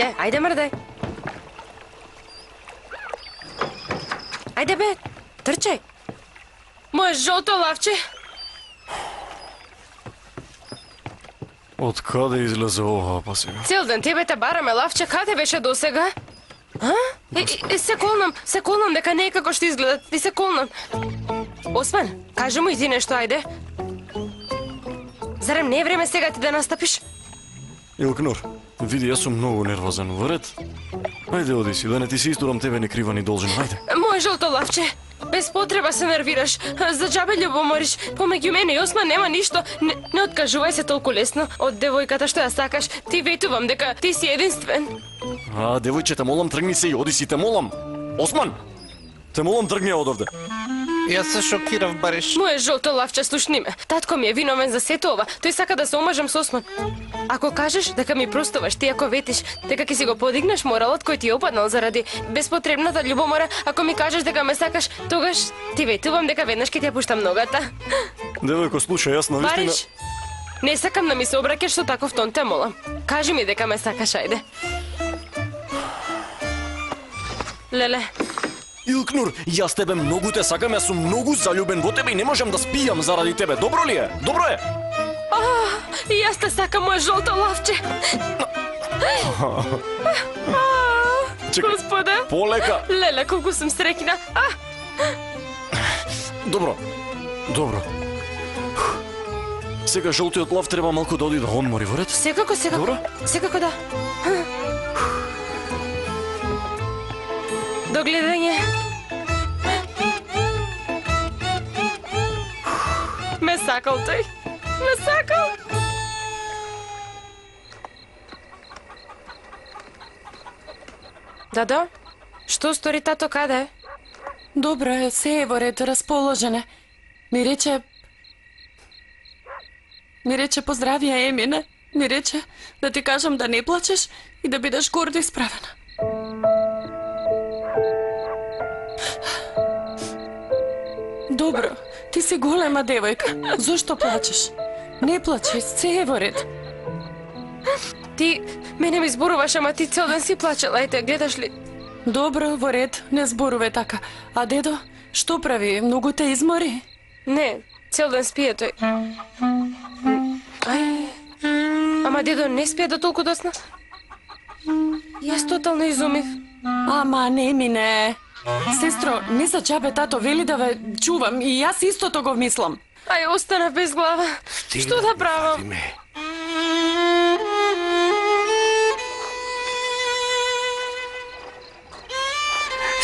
Ајде мрдај. Ајде бе, трчај. Моје жолто лавче. Од каде излезе ова, па сега? Цел ден тебе те бараме, лавче, каде беше досега? Се колнам дека не е како што изгледа, ти се колнам. Осман, кажи му и ти нешто, ајде. Зарем не е време сега ти да настапиш? Илкнур, види, јас сум многу нервозен, во ред? Ајде, оди си, да не ти се истурам тебе не крива ни должен, ајде. Моје жолто лавче, без потреба се нервираш, за џабе љубомориш, помеѓу мене и Осман нема ништо, не откажувај се толку лесно од девојката што ја сакаш, ти ветувам дека ти си единствен. Девојче, те молам, тргни се и оди си, те молам. Осман, те молам, тргни од овде. Јас се шокирав, бариш. Моје жолто лавче, слушни ме. Татко ми е виновен за сето ова. Тој сака да се омажам со Осман. Ако кажеш дека ми простуваш, ти ако ветиш дека ќе си го подигнеш моралот кој ти е опаднал заради безпотребната љубомора, ако ми кажеш дека ме сакаш, тогаш ти ветувам дека веднаш ќе ти ја пуштам ногата. Девојко, слушај, јас навистина... Бариш, не сакам да ми се обраќаш со таков тон, те молам. Кажи ми дека ме сакаш, ајде. Леле. Илкнур, јас тебе многу те сакам, јас сум многу заљубен во тебе и не можам да спијам заради тебе. Добро ли е? Добро е? И јас те сакам, моје жолто лавче. Чекај, Господе. полека. Леле, колку сум среќна. Добро. Сега жолтиот лав треба малку да оди да одмори, во ред? Секако. Добро? Секако да. До гледање. Ме сакал тој. Ме сакал. Дадо, што стори тато, каде е? Добро е, се е во ред, расположен е. Ми рече поздравија Емине. Ми рече да ти кажам да не плачеш и да бидеш гордо исправена. Добро, ти си голема девојка. Зошто плачеш? Не плачи, се е во ред. Ти мене ми зборуваш, ама ти цел ден си плачела, ајде, гледаш ли? Добро, во ред, не зборуве така. А дедо, што прави? Многу те измори? Не, цел ден спие тој. Ама дедо не спие до толку досна? Јас тотално изумив. Ама не мине. Сестро, не за џабе тато вели да ве чувам и јас истото го мислам. Остана без глава. Што да правам?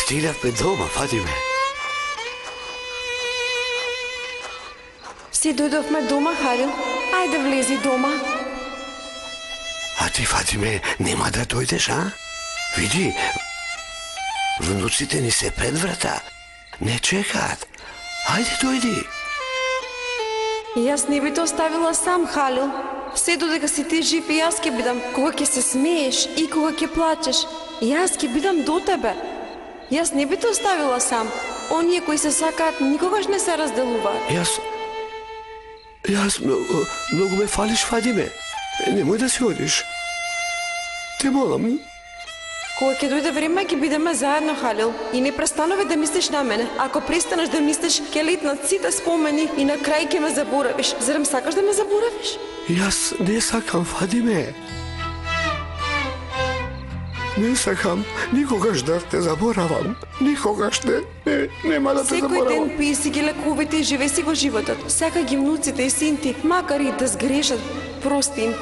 Стигнавме дома, Фатиме. Си дојдовме дома, Халил. Ајде влези дома. А ти, Фатиме, нема да дојдеш, а? Види, внуците ни се пред врата. Не чекаат. Ајде, дојди. Јас не би те оставила сам, Халил. Се додека си ти жив и јас ќе бидам. Кога ќе се смееш и кога ќе плачеш, јас ќе бидам до тебе. Јас не би те оставила сам. Оние кои се сакаат никогаш не се разделуваат. Јас многу ме фалиш, Фатиме. Немој да си одиш. Те молам. Кога ќе дојде време, ќе бидеме заедно, Халил. И не престанови да мислиш на мене. Ако престанеш да мислиш, ќе летнат сите спомени и на крај ќе ме заборавиш. Зарем сакаш да ме заборавиш? Јас не сакам, Фатиме. Не сакам никогаш да те заборавам. Никогаш нема да те заборавам. Секој ден пи си ги лекувите и живе си го животот. Сака ги внуците и син ти, макар и да сгрешат, прости им.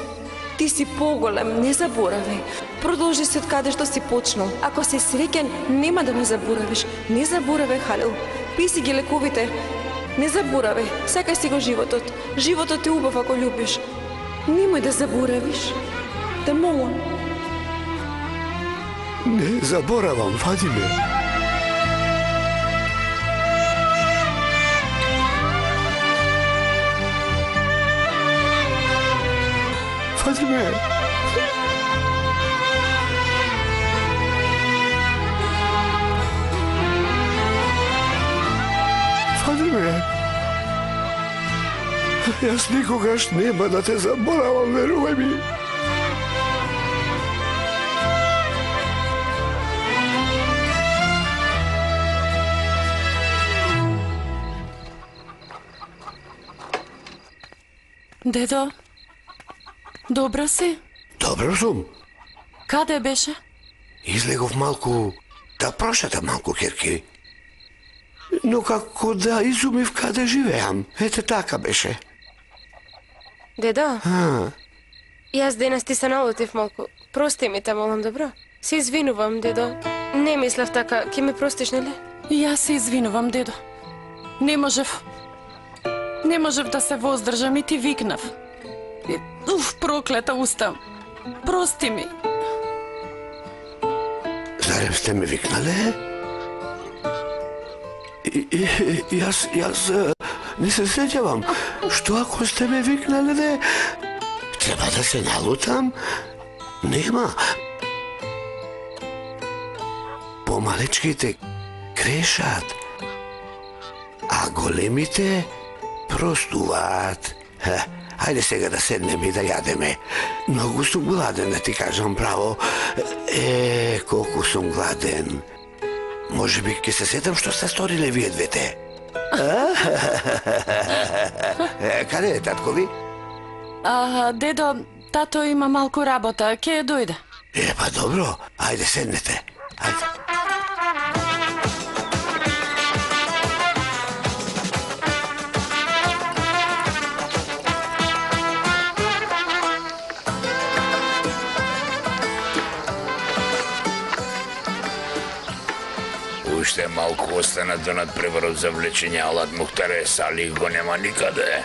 Ти си поголем, не заборавај. Продолжи се од каде што си почнал. Ако си среќен, нема да ме заборавиш. Не заборавај, Халил. Пи си ги лекувите. Не заборавај. Сакај си го животот. Животот е убав ако љубиш. Немој да заборавиш. Те молам. Не заборавам, Фатиме. Фатиме. Фатиме. Јас никогаш нема да те заборавам, верувај ми. Дедо, добро си? Добро сум. Каде беше? Излегов малку да прошетам малку, керки. Но како да изумив каде живеам. Ете така беше. Дедо, јас денес ти се налутив малку. Прости ми те, молам, добро? Се извинувам, дедо. Не мислев така, ќе ме простиш, нели? И јас се извинувам, дедо. Не можев да се воздржам и ти викнав. Проклета устам. Прости ми. Зарем сте ме викнале? Јас не се сеќавам. Што ако сте ме викнале, де? Треба да се налутам? Нема. Помалечките грешат, а големите простуваат. Хајде сега да седнеме и да јадеме. Многу сум гладен, да ти кажам право. Колку сум гладен. Може би ќе се сетам што сте сториле вие двете. Каде е татко ви? Дедо, тато има малку работа, ќе дојде. Па добро, ајде седнете. Ајде. Уште малку остана до надпреварот за влечење Алат Мухтаре Салих го нема никаде.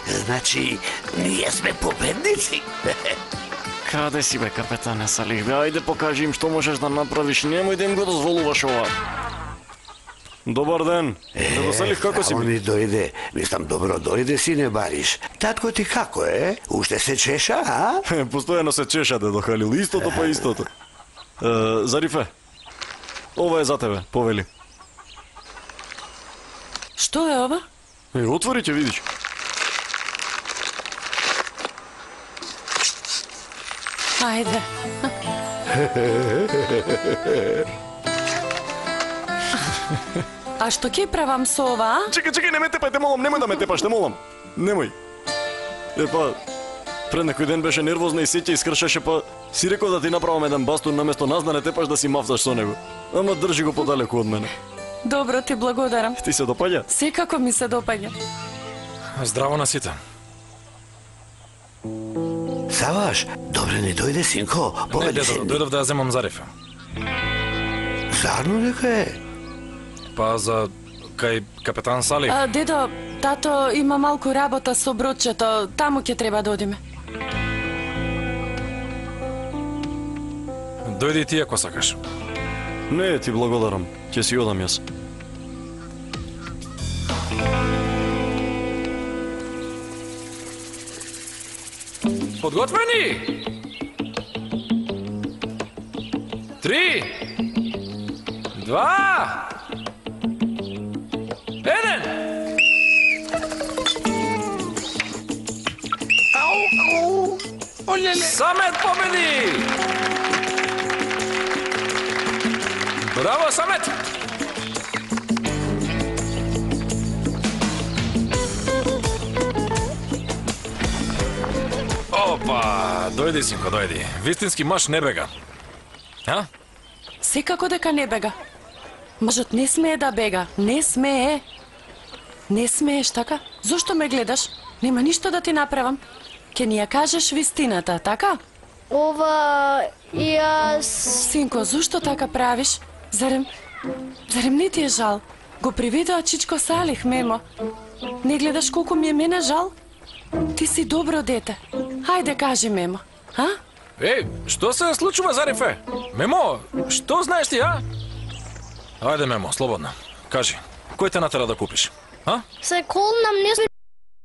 Значи, ние сме победници. Каде си бе, капетане Салих? Бе, ајде покажи им што можеш да направиш. Немој да им го дозволуваш ова. Добар ден. Дедо Салих, како си само бе? ми дојде. Мислам, добро дојде, сине Бариш. Татко ти како е? Уште се чеша, а? Постојано се чеша, дедо Халил. Истото па истото. Зарифе, ова е за тебе, повели. Што е ова? Отвори ќе видиш. Ајде. А што ќе правам со ова, а? Чекај, не ме тепај, те молам, немој да ме тепаш, те молам. Немој. Пред некој ден беше нервозна и сеќа искршеше, па си рекол да ти направам еден бастун наместо нас да не тепаш да си мавзаш со него. Ама држи го подалеку од мене. Добро, ти благодарам. Ти се допаѓа? Секако ми се допаѓа. Здраво на сите. Саваш, добре ни дојде, синко. Не, Поведи дедо, се. дојдов да ја земам Зарифа. Зарно дека е? Па за кај капетан Салих. Дедо, тато има малку работа со бродчето, таму ќе треба да одиме. Дојди и ти ако сакаш. Не, ти благодарам. Ќе си одам јас. Подготвени? 3 2 1. Самет победи! Браво, Самет! Опа, дојди, синко, дојди. Вистински маж не бега. А? Секако дека не бега. Мажот не смее да бега. Не смее. Не смееш, така? Зошто ме гледаш? Нема ништо да ти направам. Ке ни ја кажеш вистината, така? Ова, јас... Синко, зошто така правиш? Зарем не ти е жал? Го приведоа чичко Салих, мемо. Не гледаш колку ми е мене жал? Ти си добро дете. Хајде, кажи, мемо. А? Еј, што се случува, Зарифе? Мемо, што знаеш ти, а? Ајде, Мемо, слободно. Кажи, кој те натера да купиш? А? Се колнам, не сме...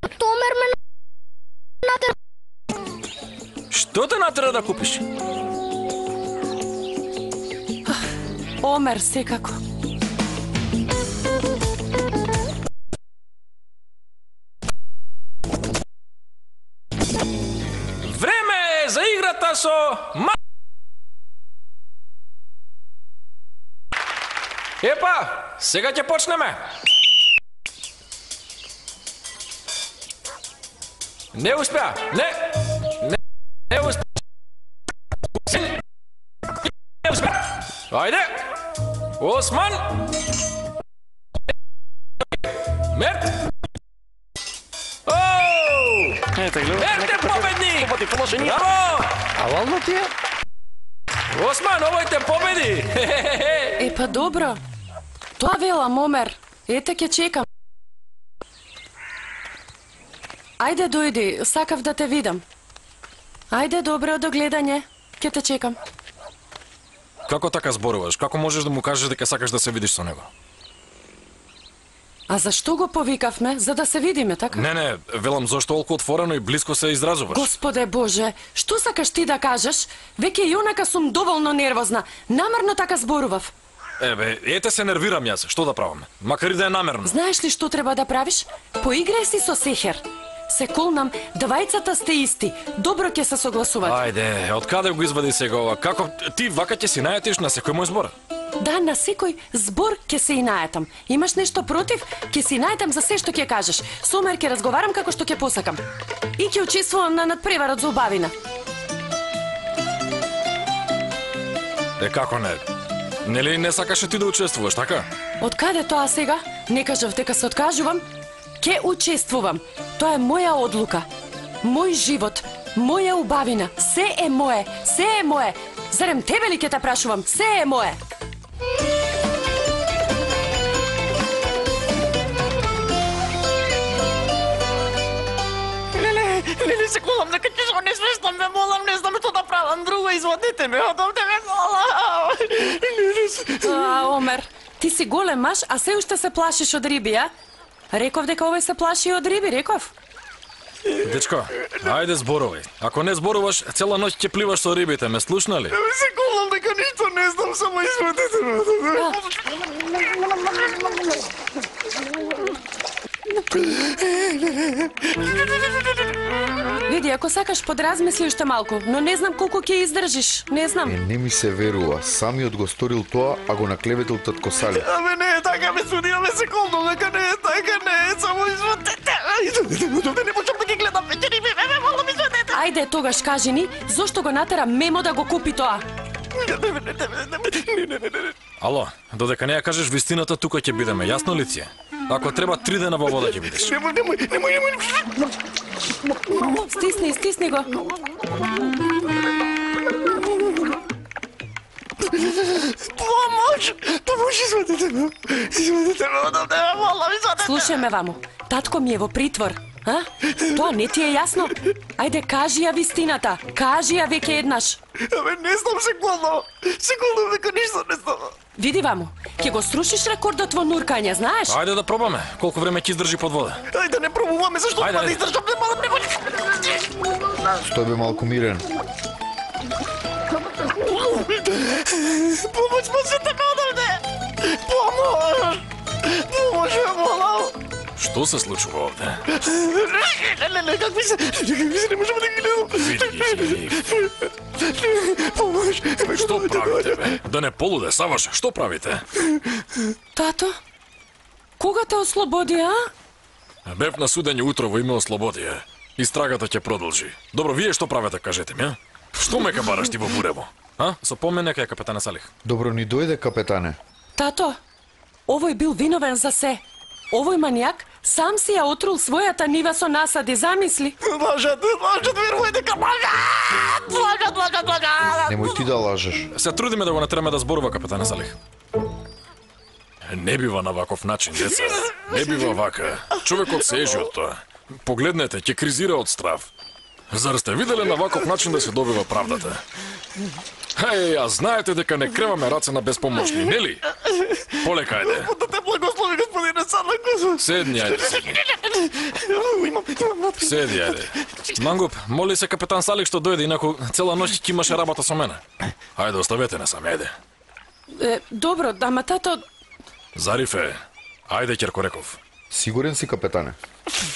Томер ме натера... Што те натера да купиш? Омер, секако. Време е за играта со... Епа, сега ќе почнеме. Не успеа. Не успеа. Не успеа. Ајде. Осман. Мерт. Ете, гледа. Мерт е победник. Положение. Браво! Авално ти е? Осман, овој те победи. Е, па добро. Тоа велам, Омер. Ете, ќе чекам. Ајде, дојди, сакав да те видам. Ајде, добро, до гледање. Ќе те чекам. Како така зборуваш? Како можеш да му кажеш дека сакаш да се видиш со него? А зашто го повикавме? За да се видиме, така? Не, велам зошто толку отворено и блиско се изразуваш. Господе Боже, што сакаш ти да кажеш? Веќе и онака сум доволно нервозна. Намерно така зборував. Ете се нервирам јас, што да правам? Макар и да е намерно. Знаеш ли што треба да правиш? Поиграј си со сехер. Се колнам, двајцата сте исти. Добро ќе се согласувате. Ајде, од каде го извади сега ова? Како ти вака ќе си најатиш на секој мој збор? Да, на секој збор ќе се и најатам. Имаш нешто против? Ќе се и најатам за се што ќе кажеш. Со Омер ќе разговарам како што ќе посакам. И ќе учествувам на надпреварот за убавина. Како не? Нели не сакаше ти да учествуваш, така? Од каде тоа сега? Не кажав дека се откажувам. Ке учествувам. Тоа е моја одлука. Мој живот, моја убавина. Се е мое, се е мое. Зарем тебе ли ке те прашувам? Се е мое. Леле, се колам дека ќе го не свештам, ме молам, не знам што да правам друго, извадете ме, одовде ме молам. Омер, ти си голем маж, а се уште се плашиш од риби, а? Реков дека овој се плаши од риби, реков. Дечко, ајде зборувај. Ако не зборуваш, цела ноќ ќе пливаш со рибите, ме слушна ли? Се колам дека ништо не знам, само извадете ме. Види, ако сакаш подразмисли уште малку, но не знам колку ќе издржиш, не знам. Не ми се верува, самиот го сторил тоа, а го наклеветил татко Сали. Не е така, ме судиме се колно, дека не е така, не е, само извадете. Не можам да ги гледам веќе риби, ме молам, извадете. Ајде, тогаш кажи ни, зошто го натера Мемо да го купи тоа? Ало, додека не ја кажеш вистината, тука ќе бидеме, јасно ли ти е? Ако треба 3 дена во вода ќе бидеш. Немој. Стисни го. Помош, извадете ме. Извадете ме, одавде ме молам, извадете. Слушај ме, ваму. Татко ми е во притвор. А? Тоа не ти е јасно? Ајде, кажи ја вистината. Кажи ја веќе еднаш. Не знам, се колно дека ништо не знам. Види, ваму, ќе го срушиш рекордот во нуркање, знаеш? Ајде да пробаме. Колку време ќе издржи под вода? Ајде не пробуваме, зашто Ајде, да ајде. издржам, не молам, немој. Стој бе малку мирен. Помош, можете ме одавде. Помош, ме молам. Што се случува овде? Не, какви се, не можам да ги гледам. Види. Помош. Што правите, бе? Да не полуде, Саваш, што правите? Тато? Кога те ослободи, а? Бев на судење утро во име Ослободија. Истрагата ќе продолжи. Добро, вие што правите, кажете ми, а? Што ме кабараш ти во бурево? А? Со помене кај капетана Салих. Добро ни дојде, капетане. Тато, овој бил виновен за се. Овој манијак сам си ја отрул својата нива со насади, замисли. Лажат, верувај дека лажат. Немој ти да лажеш. Се трудиме да го натераме да зборува капетана Салих. Не бива на ваков начин, деца. Не бива вака. Човекот се ежи од тоа. Погледнете, ќе кризира од страв. Зар сте виделе на ваков начин да се добива правдата? Ја знаете дека не креваме раце на безпомошни, нели? Полека, ајде. Да те благослови, господине Садлаков. Седни, ајде, седни. Имам Седи, ајде. Мангуп, моли се капетан Салих што дојде, инаку цела ноќ ќе имаше работа со мене. Ајде, оставете не сами, ајде. Добро, ама тато... Зарифе, ајде, Ќеркореков. Сигурен си, капетане?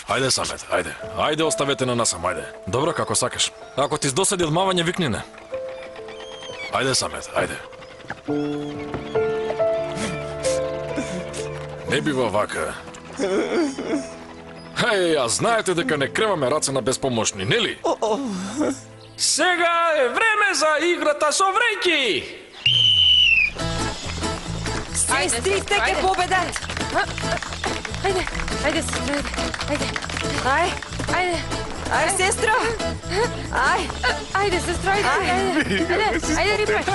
Ајде, Самет, ајде. Ајде, оставете на насам, ајде. Добро, како сакаш. Ако ти здосади одмавање, викни не. Ајде, Самет, ајде. Не бива вака. Ја знаете дека не креваме раце на безпомошни, нели? Сега е време за играта со вреќи! Сестрите ќе победат. Ајде, сестро, ајде. Ај, сестро. Ајде, сестро, ајде, рипај.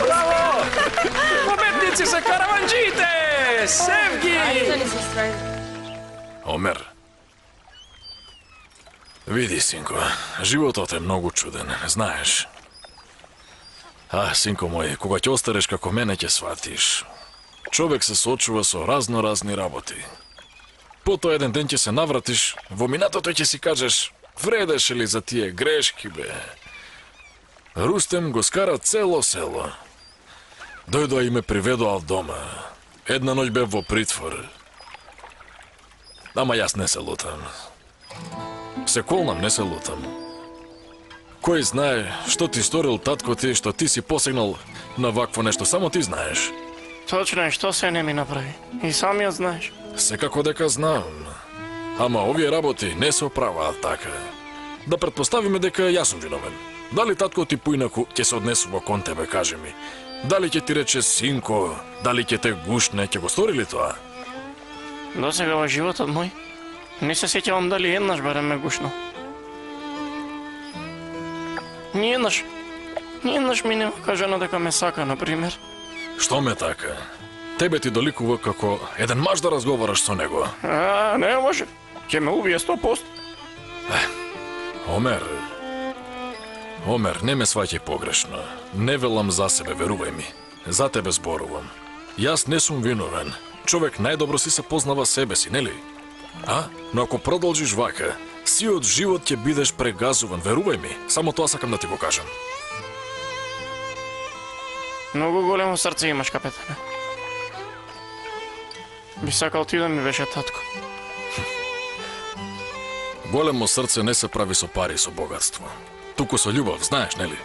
Браво! Победници се караванџиите! Севги! Ајде, сестро, ајде. Омер. Види, синко, животот е многу чуден, знаеш. Синко мој, кога ќе остареш како мене ќе сватиш. Човек се соочува со разни работи. Потоа еден ден ќе се навратиш, во минатото ќе си кажеш, вредеше ли за тие грешки, бе? Рустем го скара цело село. Дојдоа и ме приведоа дома. Една ноќ бев во притвор. Ама јас не се лутам. Се колнам, не се лутам. Кој знае што ти сторил татко ти, што ти си посегнал на вакво нешто, само ти знаеш. Точно е, што се не ми направи. И самиот знаеш. Секако дека знам. Ама овие работи не се оправаат така. Да претпоставиме дека јас сум виновен. Дали татко ти поинаку ќе се однесува кон тебе, кажи ми? Дали ќе ти рече синко, дали ќе те гушне, ќе го стори ли тоа? До сега во животот мој, не се сеќавам дали еднаш барем ме гушнал. Ниеднаш ми не кажано дека ме сака, например. Што ме така? Тебе ти доликува како еден маж да разговараш со него. Не може. Ќе ме убие 100%. Омер, не ме сваќај погрешно. Не велам за себе, верувај ми. За тебе зборувам. Јас не сум виновен. Човек најдобро си се познава себе си, нели? Но ако продолжиш вака, сиот живот ќе бидеш прегазуван, верувај ми. Само тоа сакам да ти го кажам. Многу големо срце имаш, капетане. Би сакал ти да ми беше татко. Големо срце не се прави со пари и со богатство. Туку со љубов, знаеш, нели?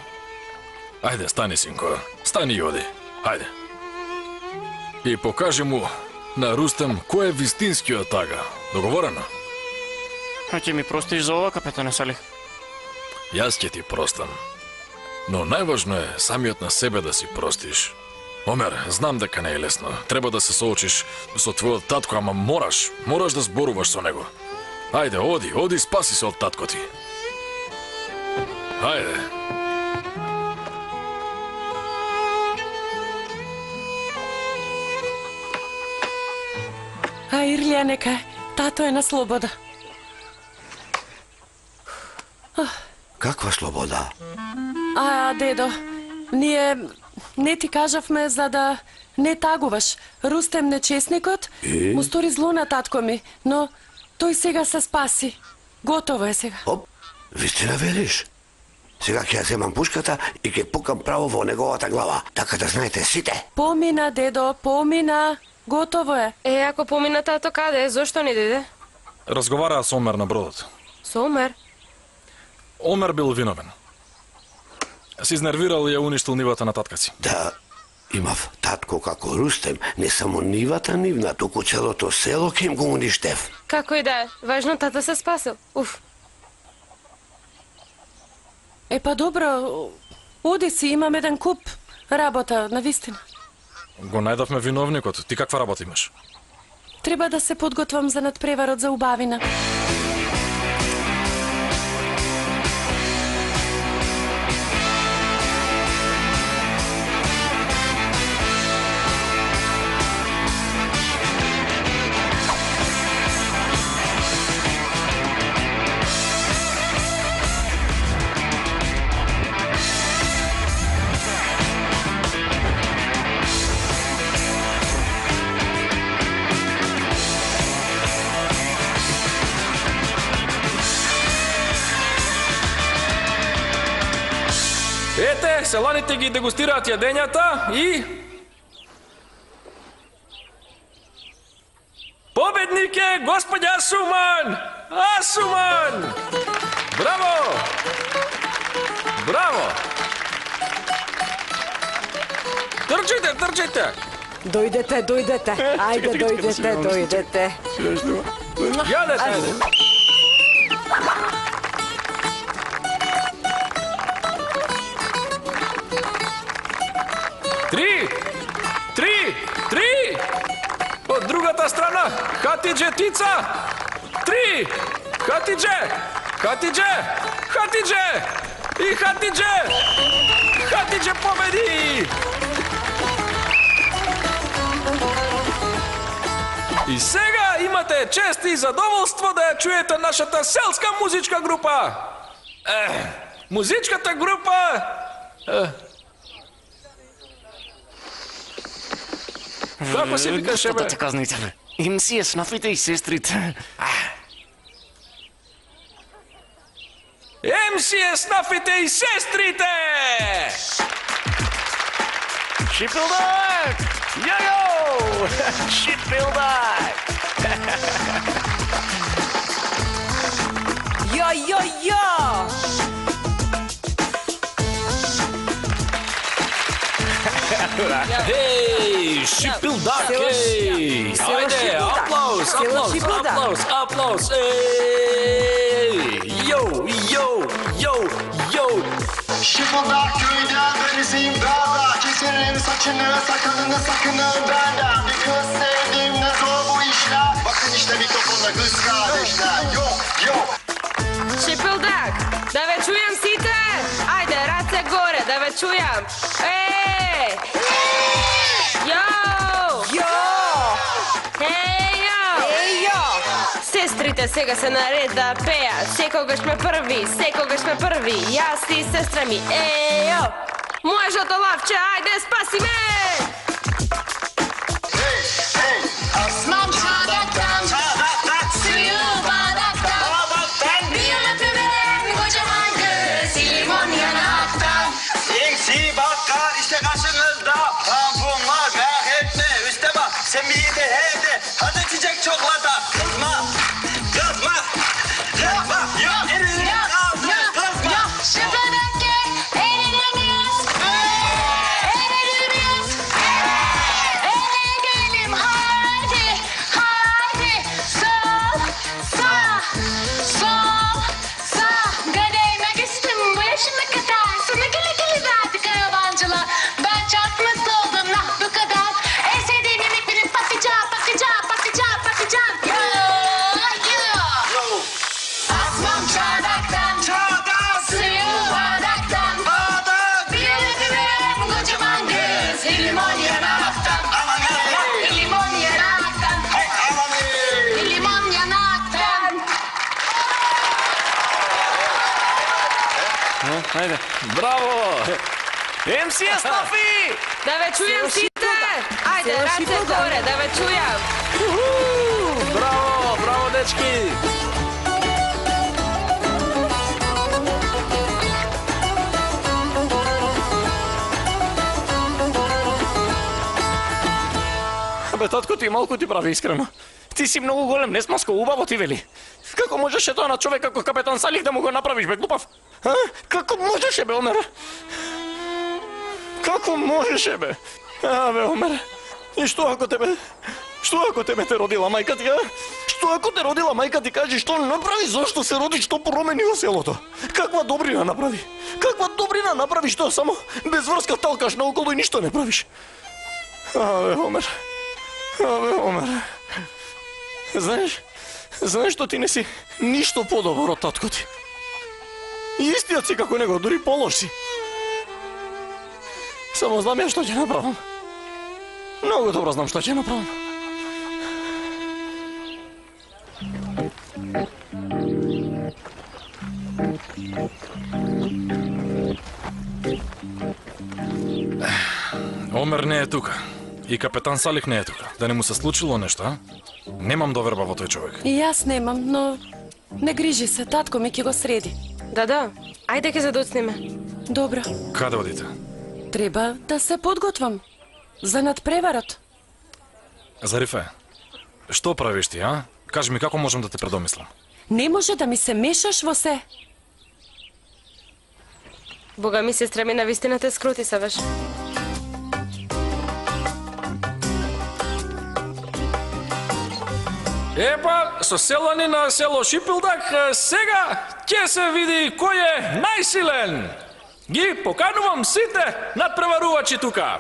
Ајде, стани, синко. Стани и оди. Ајде. И покажи му на Рустем кој е вистинскиот тага. Договорено? Ќе ми простиш за ова, капетане Салих? Јас ќе ти простам. Но најважно е самиот на себе да си простиш. Омер, знам дека не е лесно. Треба да се соочиш со твојот татко, ама мораш да зборуваш со него. Ајде, оди, спаси се од татко ти. Ајде. Ирлија, нека тато е на слобода. Каква слобода? Дедо, ние не ти кажавме за да не тагуваш. Рустем нечесникот му стори зло на татко ми, но тој сега се спаси. Готово е сега. Вистина велиш? Сега ќе ја земам пушката и ќе пукам право во неговата глава. Така да знаете сите. Помина, дедо, помина. Готово е. Ако помина тато, каде е? Зошто не дојде? Разговараа со Омер на бродот. Со Омер? Омер бил виновен. Се изнервирал и ја уништил нивата на татка си. Да, имав татко како Рустем, не само нивата нивна, туку целото село ќе им го уништев. Како и да е, важно тата се спасил. Па добро, оди си, имам еден куп работа, навистина. Го најдовме виновникот. Ти каква работа имаш? Треба да се подготвам за надпреварот за убавина. Ете, селаните ги дегустираат јадењата и... Победник е господја Асуман! Асуман! Браво! Браво! Трчите! Дојдете. Ајде, дојдете. Јадете, ајде. Три! Од другата страна, Хатидже Тица! 3! Хатидже! И Хатидже победи! И сега имате чест и задоволство да ја чуете нашата селска музичка група. Музичката група... Како се викаше, бе? Што казните, бе? MC Снафите и сестрите. MC Снафите и сестрите! Шипилдак! Јајо! Шипилдак! Ја! Ей, Шипилдак, ей! Ајде, аплауз! Ей! Yo! Şıpıldak köyden denizin dağda Keserim saçını sakalını sakının benden Bir kız sevdim ne zor bu işler Bakın işte mikrofonda kız kardeşler Yok Шипилдак, да ве чујам сите! Ајде, раце горе, да ве чујам! Еј! Јо! Ејо! Сестрите сега се наред да пеат, секогаш ме први, јас и сестра ми, ејо! Можето лавче, ајде, спаси ме! Aslan çardaktan Suyu bardaktan Bir öpüme kocaman kız Limon yanaktan Sinsi bakkal işte karşınızda Tampon var merak etme üste bak Sen bir de evde hadi çiçek çoklata Kızma elini kaldır kızma Şıpıdak gel eğleniriz Eğlenelim haydi Sol sağ Kadehime küstüm bu yaşıma kadar Sana gele verdik yabancılar Ben çok mutlu oldum nah bu kadar En sevdiğim yemek benim patlıcan Asmam çardaktan Suyu bardaktan Bir öpüme kocaman kız Limon yanaktan Limon yanaktan Ајде. Браво! MC Снафи! Да ве чујам сите! Ајде, раце горе, да ве чујам! Браво, дечки! Бе, татко ти малку ти прави искрено. Ти си многу голем, не смаско, убаво ти вели. Како можеше тоа на човек како капетан Салих да му го направиш, бе, глупав? А? Како можеше, бе, Омер? Како можеше, бе? Бе, Омер. И што ако тебе те родила мајка ти, а? Што ако те родила мајка ти, кажи што направи, зошто се роди, што промени во селото? Каква добрина направи? Каква направи, што само без врска талкаш наоколу и ништо не правиш? Бе, Омер. Знаеш што ти не си ништо подобро од татко ти. Истиот си како него, дури полош си. Само знам ја што ќе направам. Многу добро знам што ќе направам. Омер не е тука. И капетан Салих не е тука. Да не му се случило нешто, а? Немам доверба во тој човек. И јас немам, но не грижи се, татко ми ќе го среди. Да, ајде ќе задоцнеме. Добро, Каде одите? треба да се подготвам за надпреварот. Зарифе, што правиш ти, а? Кажи ми како можам да те предомислам. Не може да ми се мешаш во се. Бога ми, сестра ми, навистина те скрути савеш. Епа, со селани на село Шипилдак, сега ќе се види кој е најсилен. Ги поканувам сите надпреварувачи тука.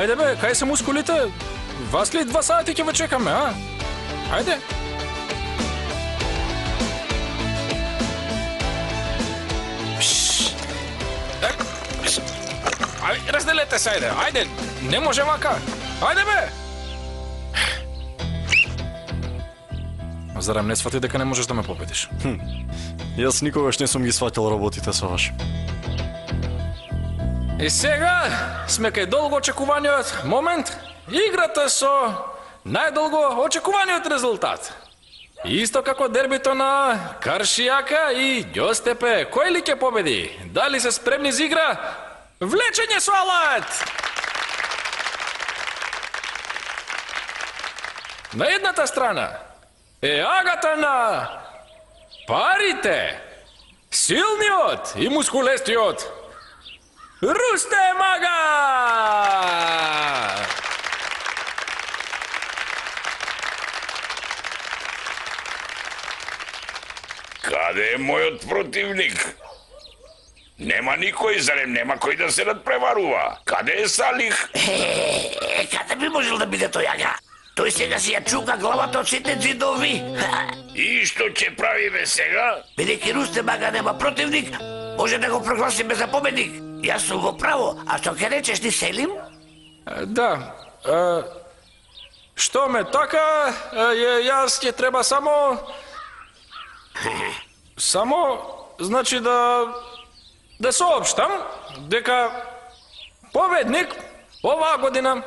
Ајде бе, кај се мускулите? Вас ли 2 сати ќе ве чекаме, а? Ајде. Ајде, разделете се, ајде, ајде, не може вака. Ајде бе! Зарем не свати дека не можеш да ме победиш? Јас никогаш не сум ги сватил работите со ваш. И сега сме кај долго очекуваниот момент, играта со најдолго очекуваниот резултат. Исто како дербито на Каршијака и Ѓостепе, кој ли ќе победи? Дали се спремни за игра? Влечење со алат! На едната страна е агата на парите, силниот и мускулестиот Рустем Ага! Каде е мојот противник? Нема никој, зарем нема кој да се надпреварува? Каде е Салих? Каде би можел да биде тој Ага? Тој сега си ја чука главата од сите ѕидови. И што ќе правиме сега? Бидејќи Рустем Ага нема противник, може да го прогласиме за победник. Јас сум во право, а што ќе речеш ти, Селим? Да, што ме така, јас ќе треба само, значи да соопштам дека победник оваа година.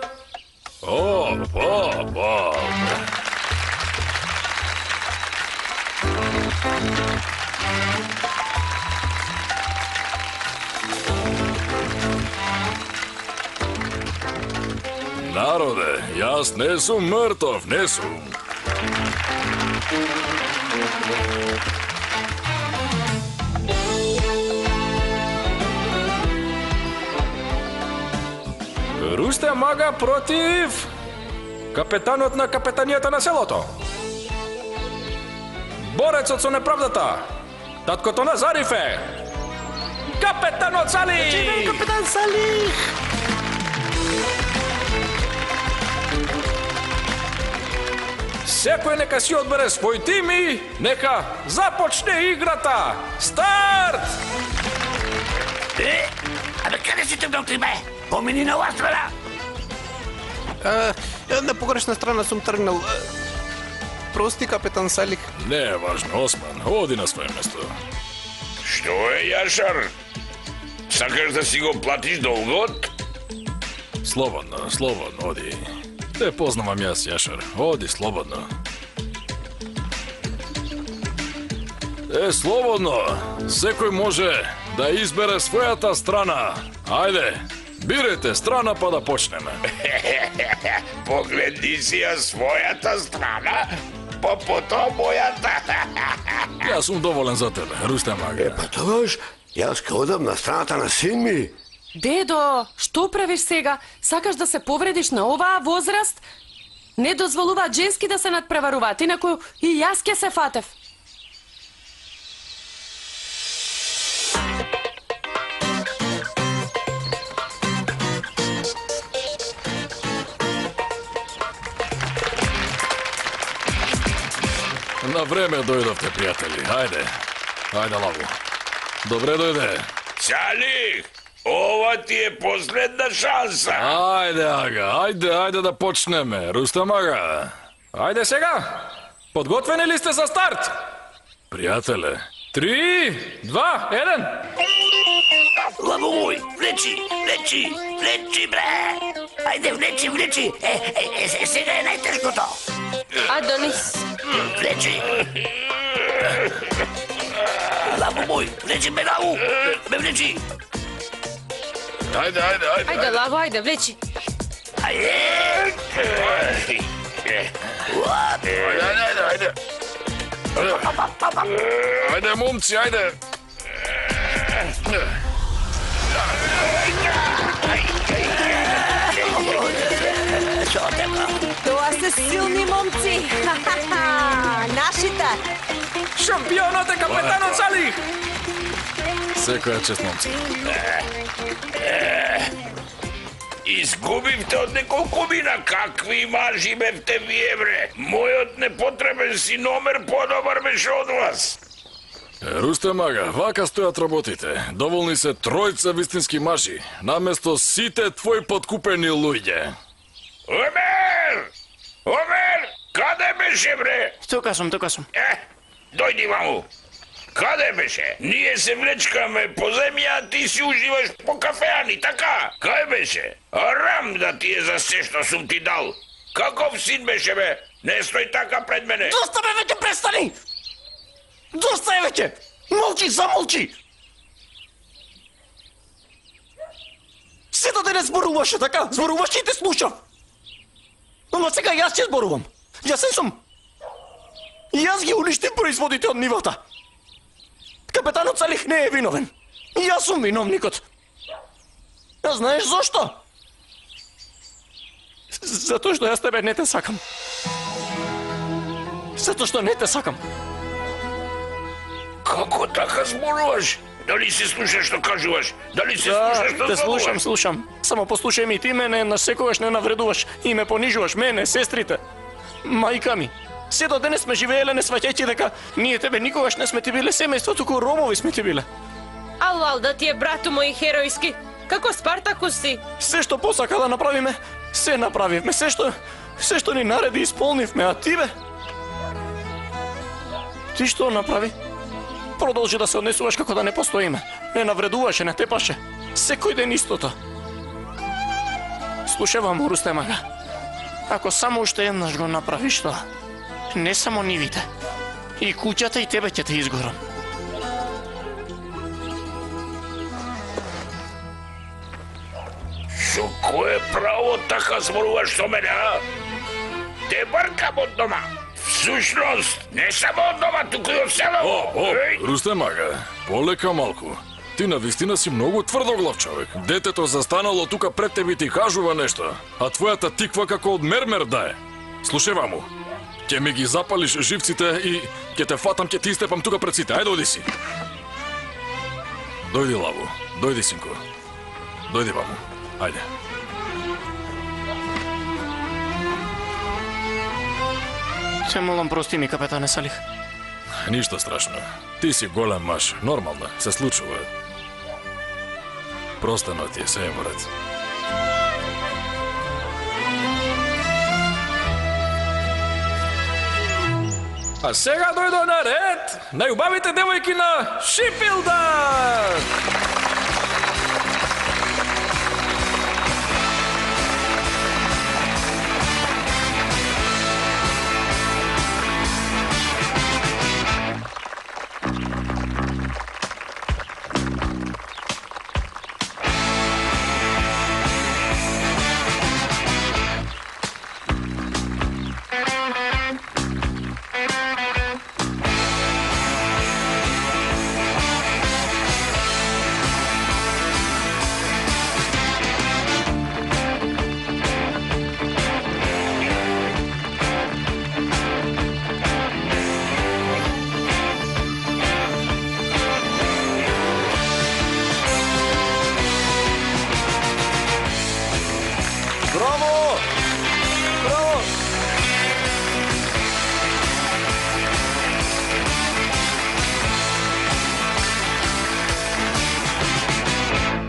Народе, јас не сум мртов, не сум. Рустем Ага против капетанот на капетанијата на селото. Борецот со неправдата, таткото на Зарифе, капетанот Салих! Живее капетан Салих! Секој нека си одбере свој тим и нека започне играта. Старт! Абе, каде си тргнал ти, бе? Помини на оваа страна. На погрешна страна сум тргнал. Прости, капетан Салих. Не е важно, Осман, оди на свое место. Што е, Јашар? Сакаш да си го платиш долгот? Слободно, слободно, оди. Те познавам јас, Јашар. Оди, слободно. Слободно. Секој може да избере својата страна. Ајде, бирайте страна па да почнеме. Погледни си ја својата страна, па потоа мојата. Јас сум доволен за тебе, Рустем Ага. Па тогаш, јас ке одам на страната на син ми. Дедо, што правиш сега? Сакаш да се повредиш на оваа возраст? Не дозволуваат женски да се надпреваруваат, инаку и јас ке се фатев. На време дојдовте, пријатели. Ајде. Ајде, Лаву. Добре дојде. Салих, ова ти е последна шанса. Ајде, Ага, ајде да почнеме. Рустам Ага. Ајде сега. Подготвени ли сте за старт? Пријателе, 3, 2, 1. Лаво мој, влечи, бре. Ајде, влечи. Сега е најтешкото. Адонис. Влечи. Лаво мој, влечи ме, Лаво. Ме влечи. Ајде. Ајде, Лаво, ајде, влечи. Ајде. Ајде, момци, ајде. Тоа се силни момци. Нашите. Шампионот е капетанот Салих. Секоја чест, момци. Изгубивте од неколку мина. Какви мажи бевте вие, бре? Мојот непотребен си номер подобар беше од вас. Рустем Ага, вака стојат работите. Доволни се тројца вистински мажи, наместо сите твои подкупени луѓе. Омер! Каде беше, бре? Тука сум. Дојди ваму. Каде беше? Ние се влечкаме по земја, а ти си уживаш по кафеани, така? Кај беше? Арам да ти е за се што сум ти дал. Каков син беше, бе? Не стој така пред мене. Доста, бе, веќе престани! Доста е веќе! Молчи, замолчи! Сето денес зборуваше, така? Зборуваше и те слушав. Но сега јас ќе зборувам. Јас сум. Јас ги уништив производите од нивата. Капетанот Салих не е виновен. Јас сум виновникот. А знаеш зошто? Затоа што јас тебе не те сакам. Затоа што не те сакам. Како така зборуваш? Дали се слушаш што кажуваш? Дали се слушаш што зборуваш? Те слушам. Само послушај ми, ти мене на секогаш не навредуваш и ме понижуваш, мене, сестрите, мајка ми. Се до денес сме живееле не сваќајќи дека ние тебе никогаш не сме ти биле семејство, туку робови сме ти биле. Ал, да ти е брату мој херојски. Како Спартакус си? Се што посака да направиме, се направивме. Се што ни нареди исполнивме, а ти бе? Ти што направи? Продолжи да се однесуваш како да не постоиме. Не навредуваше, не тепаше. Секој ден истото. Слушавам, Рустем Ага. Ако само уште еднаш го направиш тоа, не само нивите, и куќата и тебе ќе те изгорам. Со кое право така зборуваш со мене, а? Те баркам од дома. Всушност, не само од дома, туку и од село. Рустем Ага, полека малку. Ти навистина си многу тврдоглав човек. Детето застанало тука пред тебе ти кажува нешто, а твојата тиква како од мермер да е. Слушај ваму, ќе ми ги запалиш живците и ќе те фатам, ќе ти истепам тука пред сите. Ајде, оди си. Дојди, Лаву. Дојди, синко. Дојди ваму. Ајде. Се молам, прости ми, капетане Салих. Ништо страшно. Ти си голем маж. Нормално, се случува. Простено ти е, се е во ред. А сега дојдо на ред најубавите девојки на Шипилдар!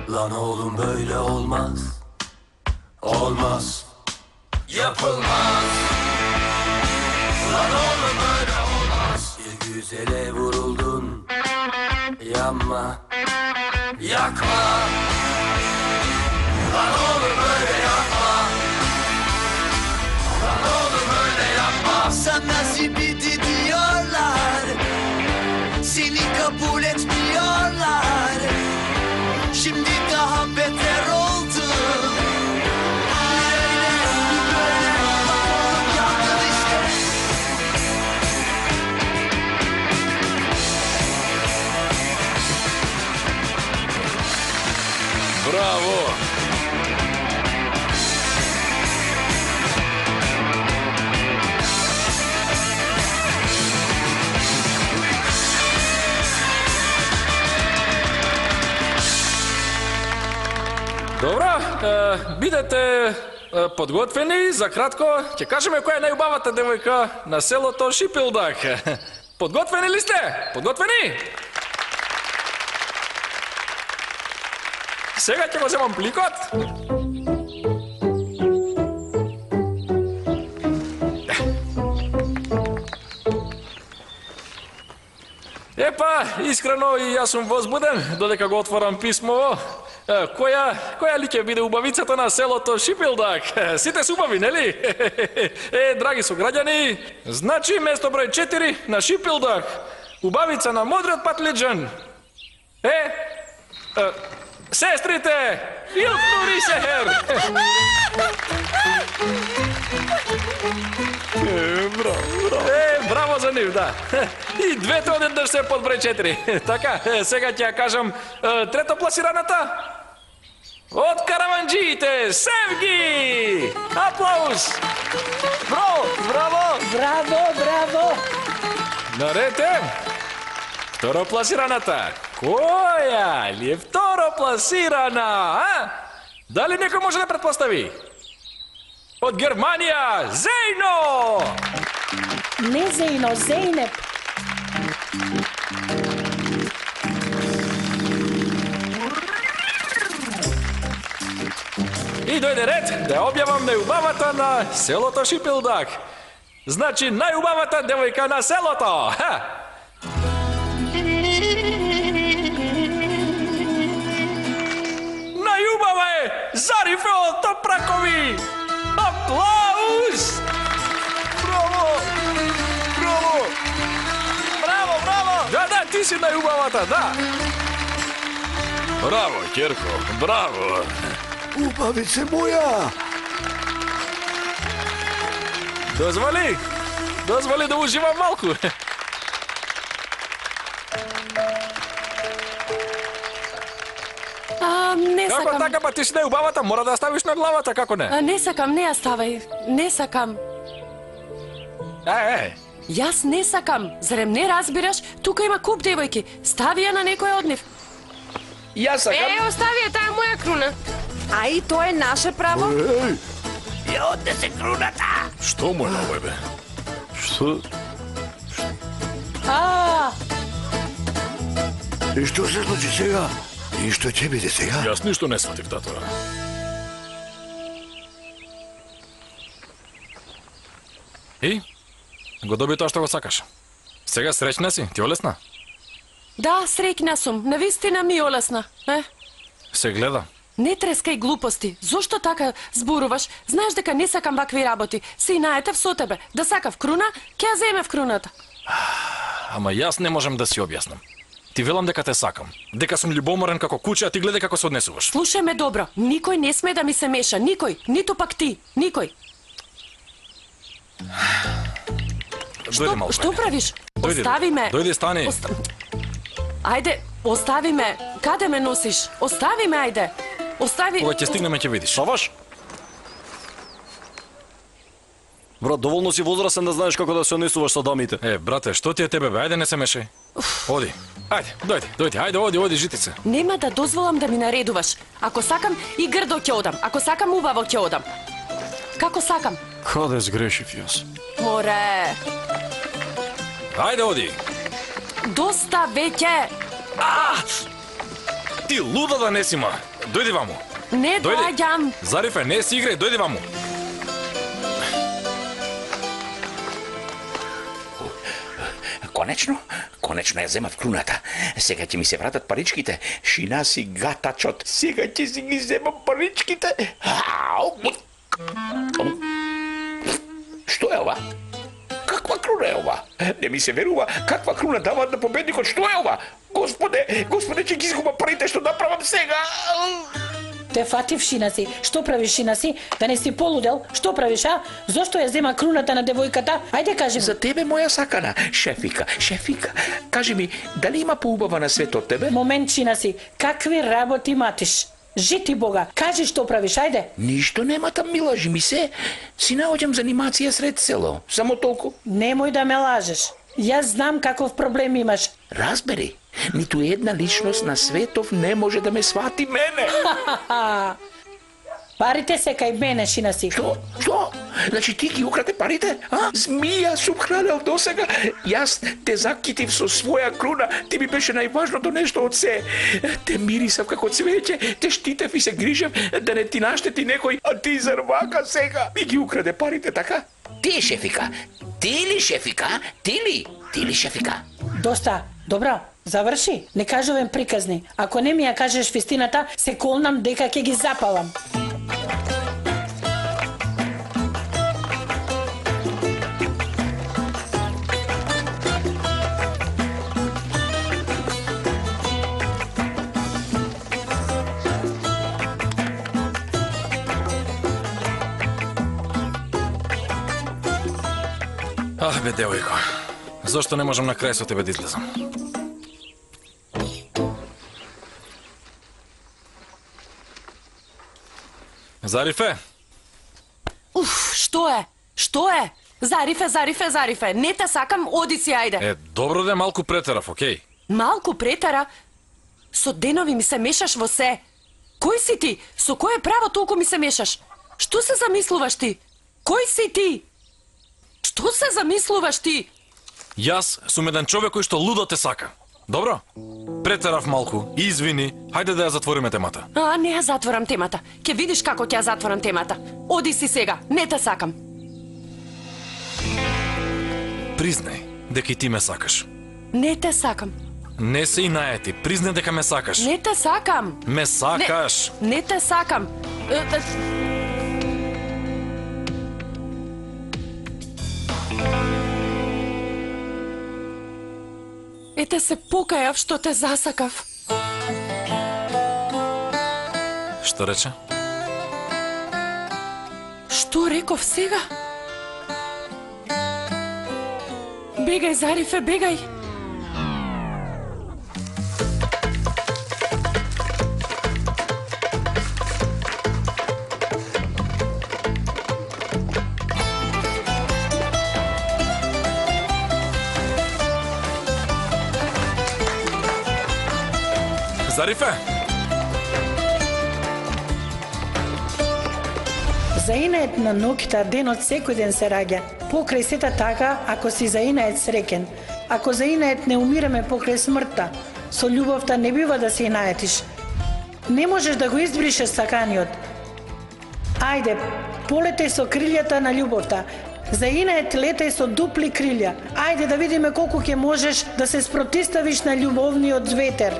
Lan oğlum böyle olmaz. Olmaz. Yapılmaz. Lan oğlum böyle olmaz. Bir güzele vuruldun. Yanma. Yakma. Lan oğlum böyle yapma. Lan oğlum öyle yapma. Sana zibidi diyorlar. Seni kabul etmiyorlar. Şimdi daha beter oldu. Böyle, böyle, bakalım yandın işte. Bravo! Добро, бидете подготвени, за кратко ќе кажеме која е најубавата девојка на селото Шипилдак. Подготвени ли сте? Подготвени? Сега ќе го земам пликот. Епа, искрено и јас сум возбуден додека го отворам писмово. Која ли ќе биде убавицата на селото Шипилдак? Сите се убави, нели? Драги сограѓани, значи место број 4 на Шипилдак. Убавица на модриот патлиџан. Сестрите! Илкнури Сехер! Браво за нив, да. И двете одеднаш се под број 4. Така, сега ќе ја кажам трето пласираната. Од караванџиите, Севги! Аплауз! Браво, браво! Браво, браво! Наред е. Второпласираната. Која ли е второпласирана, а? Дали некој може да предпостави? Од Германија, Зејно! Не Зејно, Зејнеп. И дојде ред да објавам најубавата на селото Шипилдак. Значи најубавата девојка на селото. Најубава е Зарифе од Топракови. Аплауз! Браво! Браво! Браво, браво! Да, ти си најубавата, да. Браво, Ќерко, браво. Убавице моја! Дозволи да уживам малку. Не сакам. Како така, па ти си најубавата, мора да ставиш на главата, како не? Не сакам, не ја ставај. Не сакам. Јас не сакам. Зарем не разбираш? Тука има куп девојки. Стави ја на некој од нив. Јас сакам. Остави ја, таа е моја круна. А и тоа е наше право. Ја однесе круната! Што му е на овој, бе? Што? И што се случи сега? И што ќе биде сега? Јас ништо не сватив, тато. И? Го доби тоа што го сакаш. Сега среќна си? Ти олесна? Да, среќна сум. Навистина ми олесна. Се гледа. Не трескај глупости. Зошто така зборуваш? Знаеш дека не сакам вакви работи. Се наетев со тебе. Да сакав круна, ќе ја земев круната. Ама јас не можам да си објаснам. Ти велам дека те сакам. Дека сум љубоморен како куче, а ти гледај како се однесуваш. Слушај ме добро. Никој не сме да ми се меша. Никој. Ниту пак ти. Никој. Дојди малку. Што правиш? Дојди, Остави ме. Дојди, стани. Ајде, остави ме. Каде ме носиш? Остави ме, ајде. Остави... Кога ќе стигнеме ќе видиш. Саваш? Брат, доволно си возрастен да знаеш како да се однесуваш со дамите. Брате, што ти е тебе, бе? Ајде не се мешај. Оди. Ајде, дојди. Ајде, оди, житице. Нема да дозволам да ми наредуваш. Ако сакам и грдо ќе одам. Ако сакам убаво ќе одам. Како сакам. Каде сгрешив јас? Море. Ајде, оди. Доста веќе. Ти луда да не си, ма. Дојди ваму. Не доаѓам. Зарифе, не си играј, дојди ваму. Конечно ја земав круната. Сега ќе ми се вратат паричките. Шина си гатачот. Сега ќе си ги земам паричките. Што е ова? Каква круна е ова? Не ми се верува. Каква круна даваат на победникот? Што е ова? Господе, ќе ги изгубам парите што направам сега. Те фатив, Шина си. Што правиш, Шина си? Да не си полудел? Што правиш, а? Зошто ја зема круната на девојката? Ајде кажи ми. За тебе, моја сакана. Шефика. Кажи ми, дали има поубава на свет од тебе? Момент, Шина си. Какви работи матиш? Жити Бога, кажи што правиш, ајде. Ништо нема там, ми лажи ми се. Си наоѓам за анимација сред село. Само толку. Немој да ме лажеш. Јас знам каков проблем имаш. Разбери, ниту една личност на светов не може да ме свати мене. Парите се кај мене, Шина си. Што? Значи ти ги украде парите? Змија сум хранел досега. Јас те закитив со своја круна. Ти ми беше најважното нешто од се. Те мирисав како цвеќе, те штитев и се грижев да не ти наштети некој, а ти зарвака сега. Ми ги украде парите, така? Ти, шефика. Ти ли, шефика? Ти ли, шефика? Доста. Добро, заврши. Не кажувам приказни. Ако не ми ја кажеш вистината, се колнам дека ќе ги запалам. Бе, девојко, зошто не можам на крај со тебе да излезам? Зарифе? Што е? Зарифе. Не те сакам, оди си, ајде. Добро де, малку претерав, окей? Малку претера? Со денови ми се мешаш во се. Кој си ти? Со кое право толку ми се мешаш? Што се замислуваш ти? Кој си ти? Што се замислуваш ти? Јас сум еден човек кој што лудо те сака. Добро? Претерав малку, извини, хајде да ја затвориме темата. Не ја затворам темата. Ќе видиш како ќе ја затворам темата. Оди си сега, не те сакам. Признај дека и ти ме сакаш. Не те сакам. Не се и наети, признај дека ме сакаш. Не те сакам. Ме сакаш. Не те сакам. Ете се покајав што те засакав. Што рече? Што реков сега? Бегај, Зарифе, бегај. Зарифе! Заинает на ноќта денот секој ден се раѓа. Покрај сета така, ако си заинает среќен. Ако заинает не умираме покрај смртта. Со љубовта не бива да се наетиш. Не можеш да го избришеш саканиот. Ајде, полетеј со крилјата на љубовта. Заинает летеј со дупли крилја. Ајде да видиме колку ќе можеш да се спротиставиш на љубовниот ветер.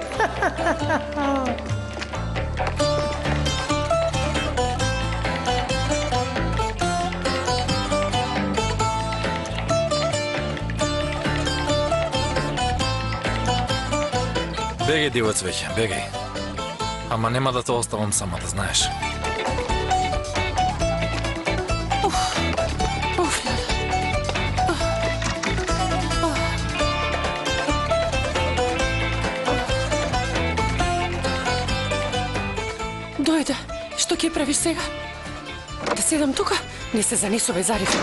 Бегај, диво цвеќе, бегај. Ама нема да те оставам сама, да знаеш. Дојде, што ќе правиш сега? Да седам тука? Не се занесувај, Зарифе.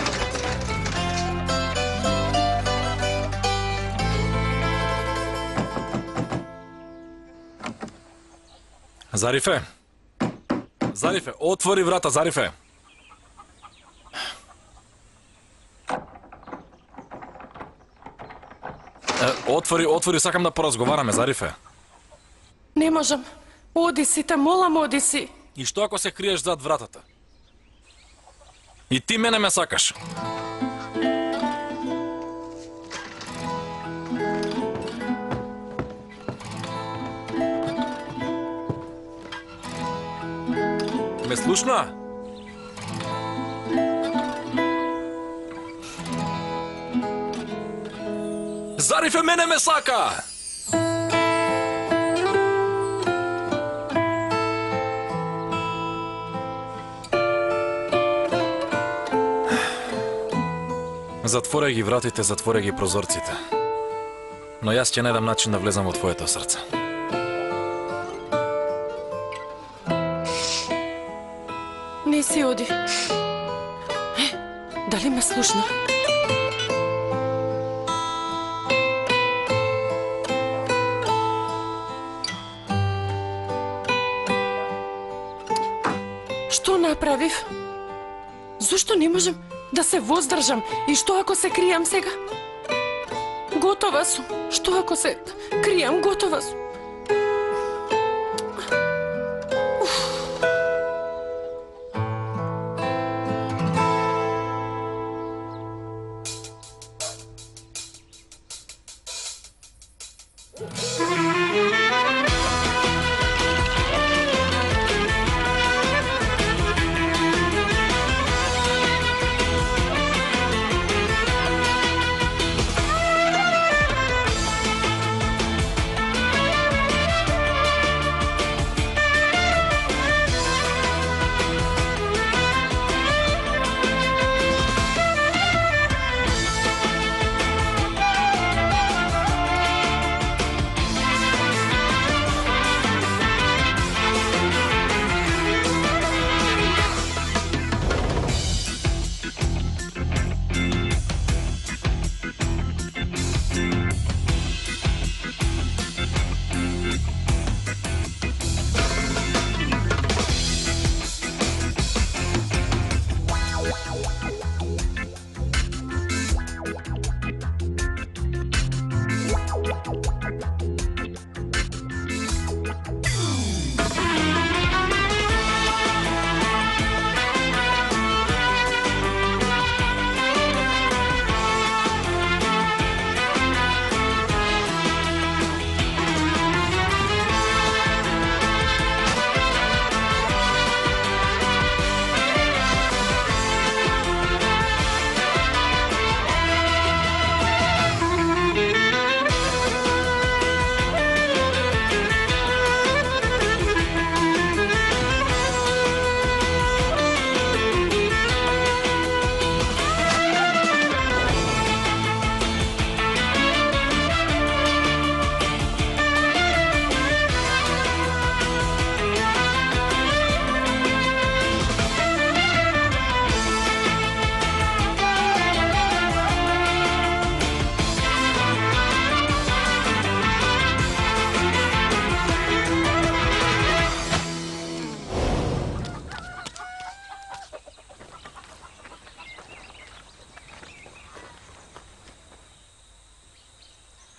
Зарифе! Зарифе, отвори врата, Зарифе! Отвори, сакам да поразговараме, Зарифе. Не можам. Оди си, те молам, оди си. И што ако се криеш зад вратата? И ти мене ме сакаш. Ме слушна? Зарифе мене ме сака! Затворяй ги вратите, затворяй ги прозорците. Но јас ќе најдам начин да влезам во твоето срце. Не си оди. Дали ме слушна? Што направив? Зошто не можем да се воздржам? И што ако се кријам сега? Готова сум. Што ако се кријам? Готова сум.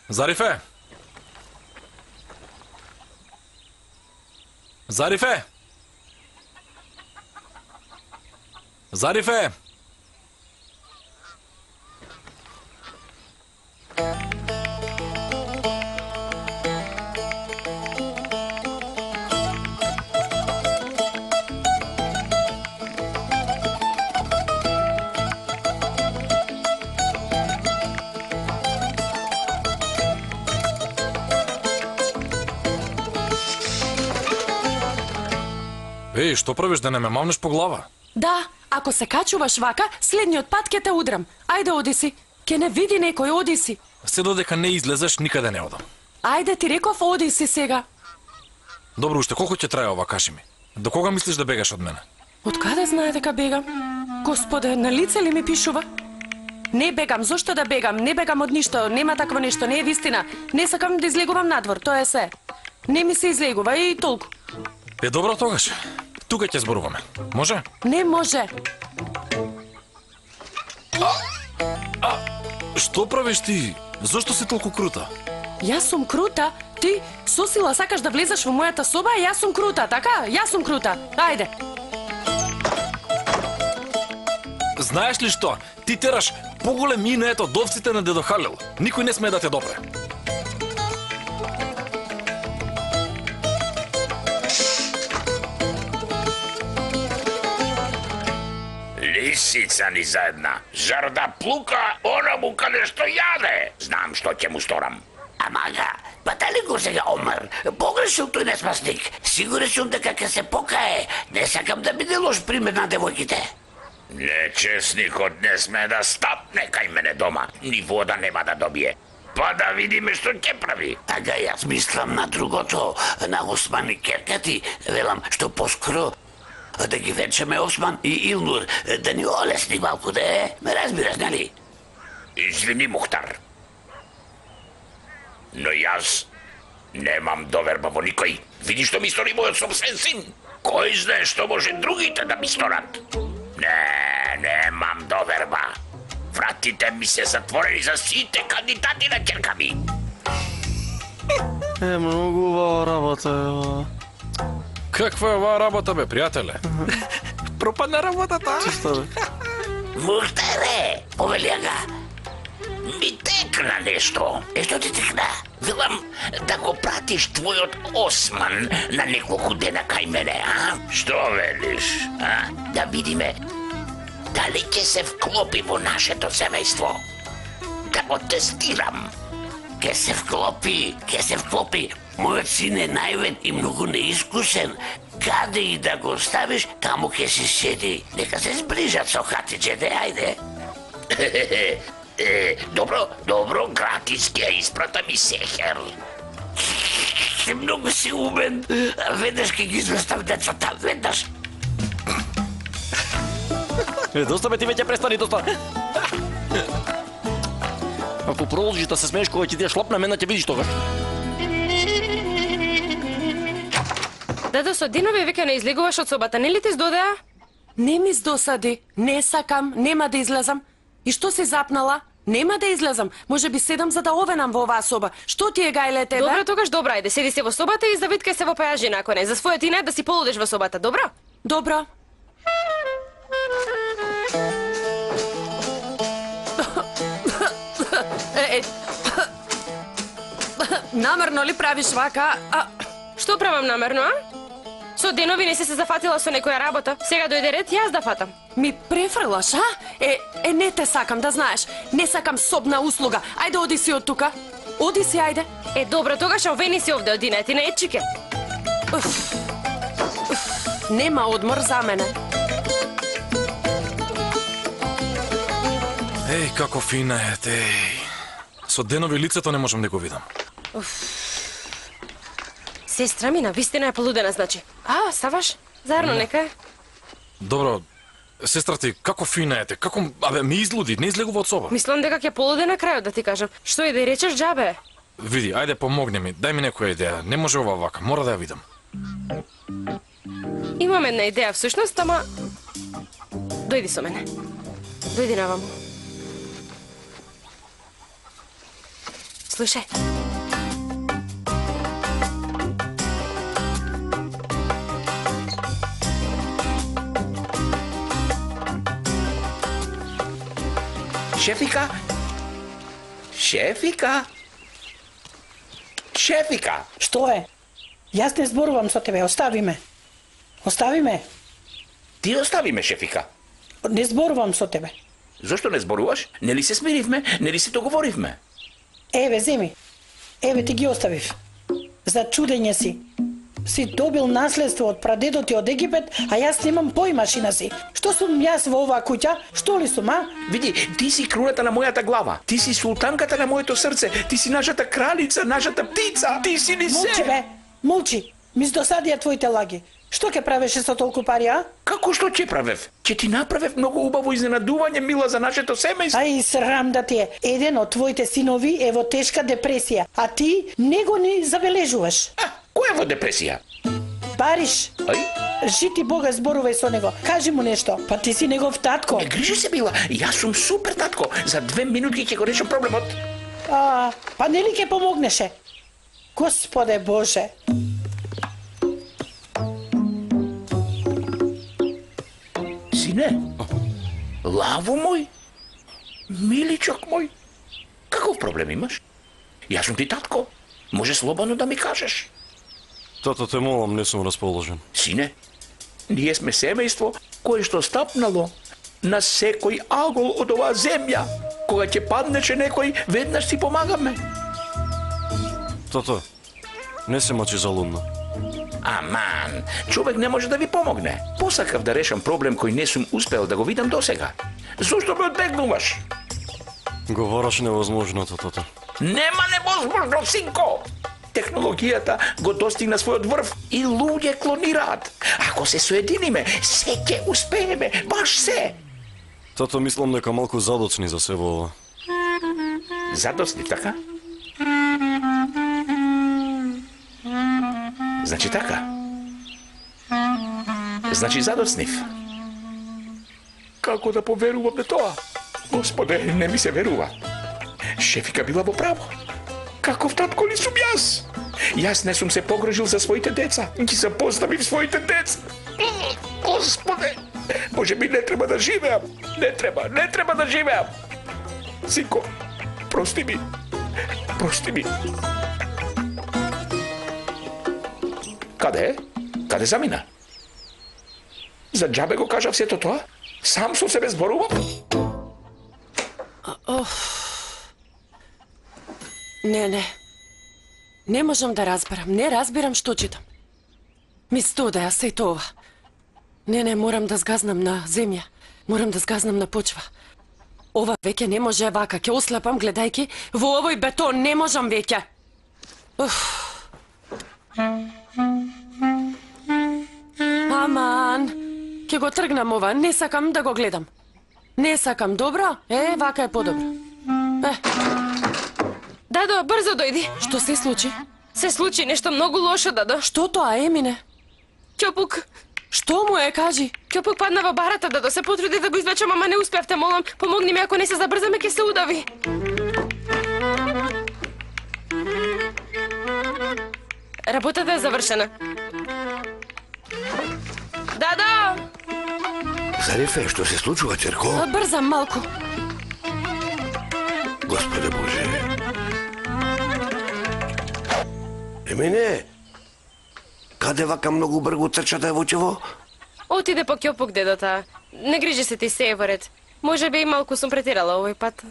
Зарифе! Зарифе! Зарифе! Еј, што правиш да не ме мавнеш по глава? Да, ако се качуваш вака, следниот пат ќе те удрам. Ајде, оди си. Ке не види некој, оди си. Се додека не излезеш, никаде не одам. Ајде, ти реков, оди си сега. Добро, уште колку ќе трае ова, кажи ми? До кога мислиш да бегаш од мене? Од каде знае дека бегам? Господе, на лице ли ми пишува? Не бегам, зошто да бегам? Не бегам од ништо, нема такво нешто, не е вистина. Не сакам да излегувам надвор, тоа е се. Не ми се излегува и толку. Е, добро тогаш. Тука ќе зборуваме. Може? Не може. Што правиш ти? Зошто си толку крута? Јас сум крута? Ти со сила сакаш да влезеш во мојата соба, а јас сум крута, така? Јас сум крута. Ајде. Знаеш ли што? Ти тераш поголем инеет од овците на дедо Халил. Никој не смее да те допре. Лисица ни заедна. Зар да плука онаму каде што јаде? Знам што ќе му сторам. Амага, па дали го сега Омар? Погрешил тој неспасник. Сигурен сум дека ќе се покае. Не сакам да биде лош пример на девојките. Нечесникот не сме да стапне кај мене дома. Ни вода нема да добие. Па да видиме што ќе прави. Ага, јас мислам на другото, на Осман и Керкати. Велам што поскоро да ги вечеме Осман и Илнур, да ни олесни малку, да е. Ме разбираш, нели? Извини, Мухтар. Но јас немам доверба во никој. Види што ми стори мојот собствен син. Кој знае што може другите да ми сторат? Не, немам доверба. Вратите ми се затворени за сите кандидати на ќерка ми. Многу убава работа, ева. Каква е оваа работа, бе, пријателе? Пропадна работата. Чисто, бе. Мухтаре, повелијага. Ми текна нешто. Што ти текна? Велам да го пратиш твојот Осман на неколку дена кај мене, а? Што велиш, а? Да видиме дали ќе се вклопи во нашето семејство. Да го тестирам. Ќе се вклопи. Мојот син е наивен и многу неискусен. Каде и да го ставиш, таму ќе си седи. Нека се зближат со хатиџете, ајде. Добро, гратис ќе испратам и сехер. Многу си умен. Веднаш ќе ги известам децата, веднаш. Доста бе, ти веќе престани, доста. Ако продолжиш да се смееш кога ќе ти шлопна, мене ќе видиш тогаш. Дедо, со денови веќе не излегуваш од собата, нели ти здодеа? Не ми здосади. Не сакам, нема да излезам. И што си запнала? Нема да излезам. Може би седам за да овенам во оваа соба. Што ти е, гајле, тебе? Добро, тогаш добро, ајде, седи се во собата и завиткај се во пајажина, ако не. За својот инет да си полудеш во собата, добро? Добро. Намерно ли правиш вака? Што правам намерно, а? Со денови не си се зафатила со некоја работа. Сега дојде ред јас да фатам. Ми префрлаш, а? Не те сакам, да знаеш. Не сакам собна услуга. Ајде, оди си од тука. Оди си, ајде. Добро, тогаш овени си овде, одинети на ечике. Нема одмор за мене. Еј, како фина е, еј. Со денови лицето не можам да го видам. Сестра ми навистина е полудена, значи. Ставаш? Зарно нека е. Добро, сестра ти, како фина е, како... ми излуди, не излегува од соба. Мислам дека ќе полуде на крајот, да ти кажам. Што и да речеш, џабе? Види, ајде помогни ми, дај ми некоја идеја. Не може ова вака, мора да ја видам. Имам една идеја всушност, ама... Дојди со мене. Дојди наваму. Слушај. Шефика? Шефика? Шефика! Што е? Јас не зборувам со тебе, остави ме. Остави ме. Ти остави ме, Шефика. Не зборувам со тебе. Зошто не зборуваш? Нели се смиривме? Нели се договоривме? Еве, земи. Еве ти ги оставив. За чудење си. Си добил наследство од прадедот ти од Египет, а јас немам поимашина си. Што сум јас во оваа куќа? Што ли сум, а? Види, ти си круната на мојата глава. Ти си султанката на моето срце. Ти си нашата кралица, нашата птица. Ти си ни се. Молчи, бе. Молчи. Ми здосадија твоите лаги. Што ќе правеше со толку пари, а? Како што ќе правев? Ќе ти направев многу убаво изненадување, мила, за нашето семејство. Ај, срам да ти е. Еден од твоите синови е во тешка депресија, а ти не го ни забележуваш. Кој е во депресија? Бариш. Ај? Жити Бога, зборувај со него. Кажи му нешто. Па ти си негов татко. Не грижи се, мила. Јас сум супер татко. За 2 минути ќе го решам проблемот. Па нели ќе помогнеше? Господе Боже. Сине, лаво мој, миличок мој, каков проблем имаш? Јас сум ти татко, може слободно да ми кажеш. Тато, те молам, не сум расположен. Сине, ние сме семејство кое што стапнало на секој агол од оваа земја. Кога ќе паднеше некој, веднаш си помагаме. Тато, не се мачи за лудно. Аман, човек не може да ви помогне. Посакав да решам проблем кој не сум успел да го видам досега. Зошто ме одбегнуваш? Говораш невозможното, тато. Нема невозможно, синко! Технологијата го достигна својот врв и луѓе клонираат. Ако се соединиме, се ќе успееме, баш се. Тато, мислам дека малку задоцни за се во ова. Задоцни, така? Значи така. Значи задоцнив. Како да поверувам на тоа? Господе, не ми се верува. Шефика била во право. Каков татко ли сум јас? Јас не сум се погрижил за своите деца. Ги запоставив своите деца. Господе, може би не треба да живеам. Не треба да живеам. Синко, прости ми. Прости ми. Каде е? Каде замина? За џабе го кажав сето тоа? Сам со себе зборувам? Не. Не можам да разберам. Не разбирам што читам. Ми студеа се тоа. Не, морам да згазнам на земја. Морам да згазнам на почва. Ова веќе не може вака. Ќе ослепам гледајки во овој бетон. Не можам веќе. Аман, ќе го тргнам ова. Не сакам да го гледам. Не сакам, добро? Вака е подобро. Дадо, брзо дојди. Што се случи? Се случи нешто многу лошо, Дадо. Што тоа, Емине? Ќопук. Што му е, кажи? Ќопук падна во барата, Дадо. Се потруди да го извлечам, ама не успеав, те молам. Помогни ми, ако не се забрзаме, ќе се удави. Работата е завршена. Дадо! Зарифе, што се случува, Черко? Брзам малку. Господе Боже. Емине, каде вака многу бргу трчата е вочево? Отиде по ќопук, дедота. Не грижи се, ти се е во ред. Може би и малку сум претерала овој пат.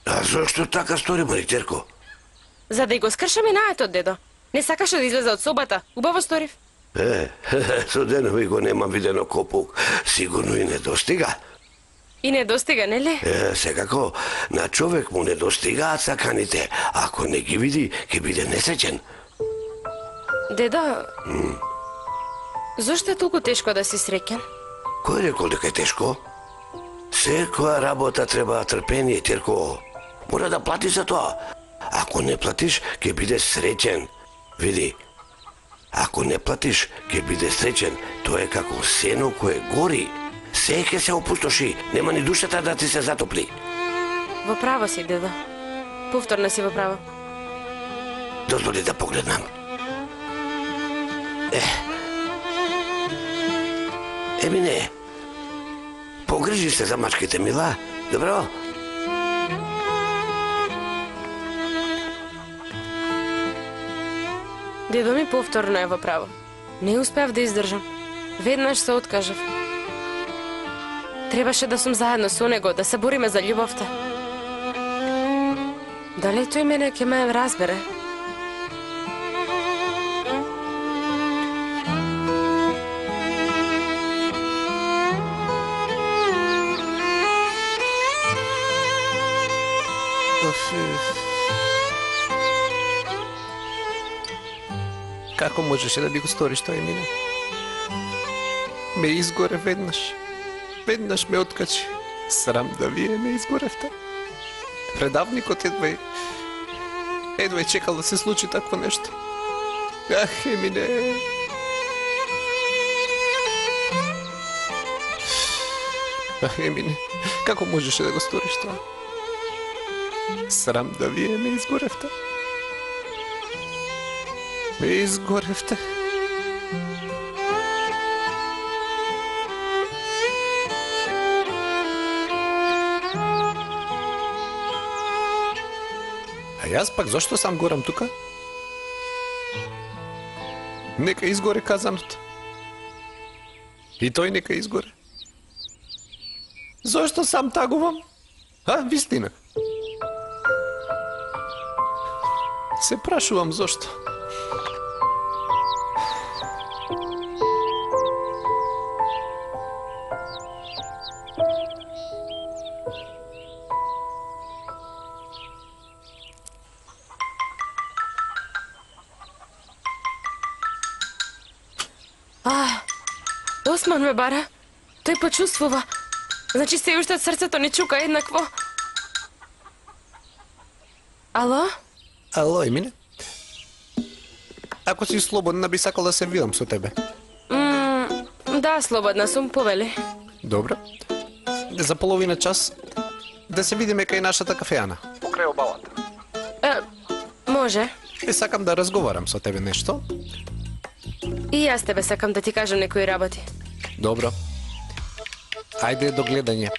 А зошто така стори, Марiterko? За да и го скршаме наетот, дедо. Не сакаше да излезе од собата. Убаво сторив. Со денови го нема видено копук. Сигурно и не достига. И не достига, нели? Секако, на човек му не достигаат саканите. Ако не ги види, ќе биде несреќен. Дедо, зошто е толку тешко да си среќен? Кој рекол дека е тешко? Секоја работа треба трпение, Терко. Мора да плати за тоа. Ако не платиш, ќе биде среќен. Види, ако не платиш, ќе биде среќен. Тоа е како сено кое гори. Се ќе се опустоши, нема ни душата да ти се затопли. Во право си, дедо. Повторно си во право. Дозволи да погледнам. Емине, погрижи се за мачките, мила, добро? Дедо ми повторно е во право. Не успеав да издржам. Веднаш се откажав. Требаше да сум заедно со него, да се бориме за љубовта. Дали тој мене ќе ме разбере? Како можеше да би го сториш тоа, Емине? Ме изгоре веднаш. Веднаш ме откачи. Срам да вие ме изгоревте. Предавникот едва е чекал да се случи такво нешто. Ах, Емине. Ах, Емине, како можеше да го сториш тоа? Срам да вие ме изгоревте. Ме изгоревте. А јас пак зошто сам горам тука? Нека изгоре казанот. И тој нека изгоре. Зошто сам тагувам? Вистина. Се прашувам зошто. Осман ме бара. Тој почувствува. Значи се уште срцето не чука еднакво. Ало? Ало, Емине? Ако си слободна, би сакал да се видам со тебе. Да, слободна сум, повели. Добро. За половина час да се видиме кај нашата кафеана. Покрај обалата. Може. Сакам да разговарам со тебе нешто. И јас тебе сакам да ти кажам некои работи. Добро. Ајде до гледање.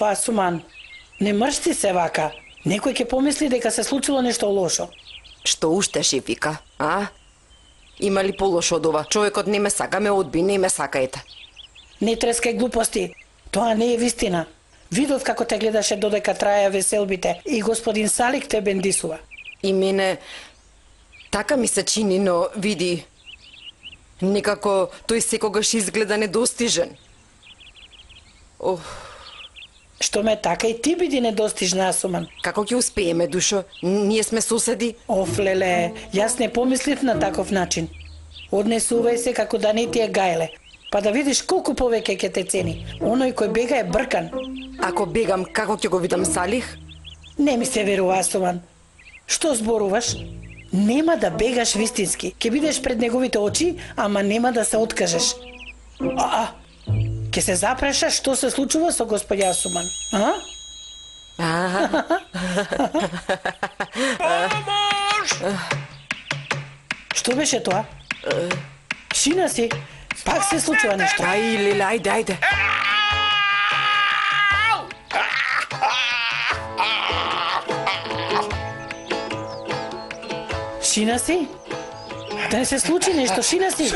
Асуман, не мршти се вака. Некој ќе помисли дека се случило нешто лошо. Што уште, Шефика, а? Има ли полошо од ова? Човекот не ме сака, ме одби, не ме сакаете. Не трескај глупости. Тоа не е вистина. Видов како те гледаше додека траја веселбите и господин Салик те бендисува. И мене така ми се чини, но види, некако тој секогаш изгледа недостижен. Што ме така и ти биди недостижна, Асуман. Како ќе успееме, душо? Ние сме соседи. Леле, јас не помислив на таков начин. Однесувај се како да не ти е гајле, па да видиш колку повеќе ќе те цени. Оној кој бега е бркан. Ако бегам, како ќе го видам Салих? Не ми се верува, Асуман. Што зборуваш? Нема да бегаш вистински. Ќе бидеш пред неговите очи, ама нема да се откажеш. Ке се запрашаш што се случува со господја Асуман, Што беше тоа? Шина си, пак се случува нешто. Леле, ајде. Шина си? Да не се случи нешто, Шина си?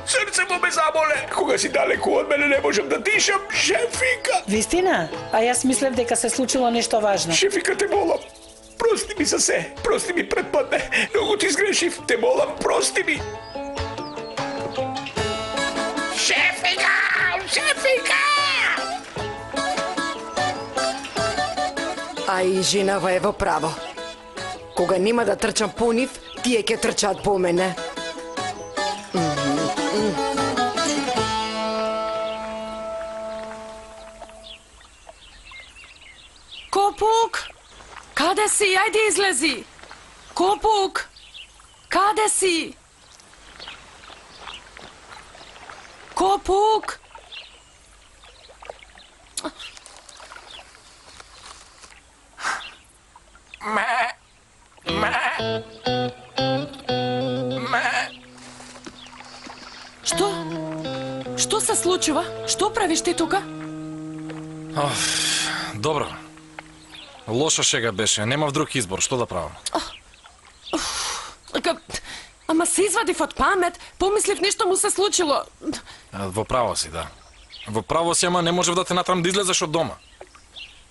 Срцемо ме заболе. Кога си далеку од мене не можам да дишам, Шефика. Вистина? А јас мислев дека се случило нешто важно. Шефика, те молам. Прости ми за се. Прости ми предпадне. Многу ти сгрешив. Те молам, прости ми. Шефика! Ај, женава е во право. Кога нема да трчам по нив, тие ќе трчаат по мене. Копук! Каде си? Ајде излези! Копук! Каде си? Копук! Што? Што се случува? Што правиш ти тука? Добро. Лоша шега беше, немав друг избор, што да правам? Ама се извадив од памет, помислив нешто му се случило. Во право си, да. Во право си, ама не можев да те натрам да излезеш од дома.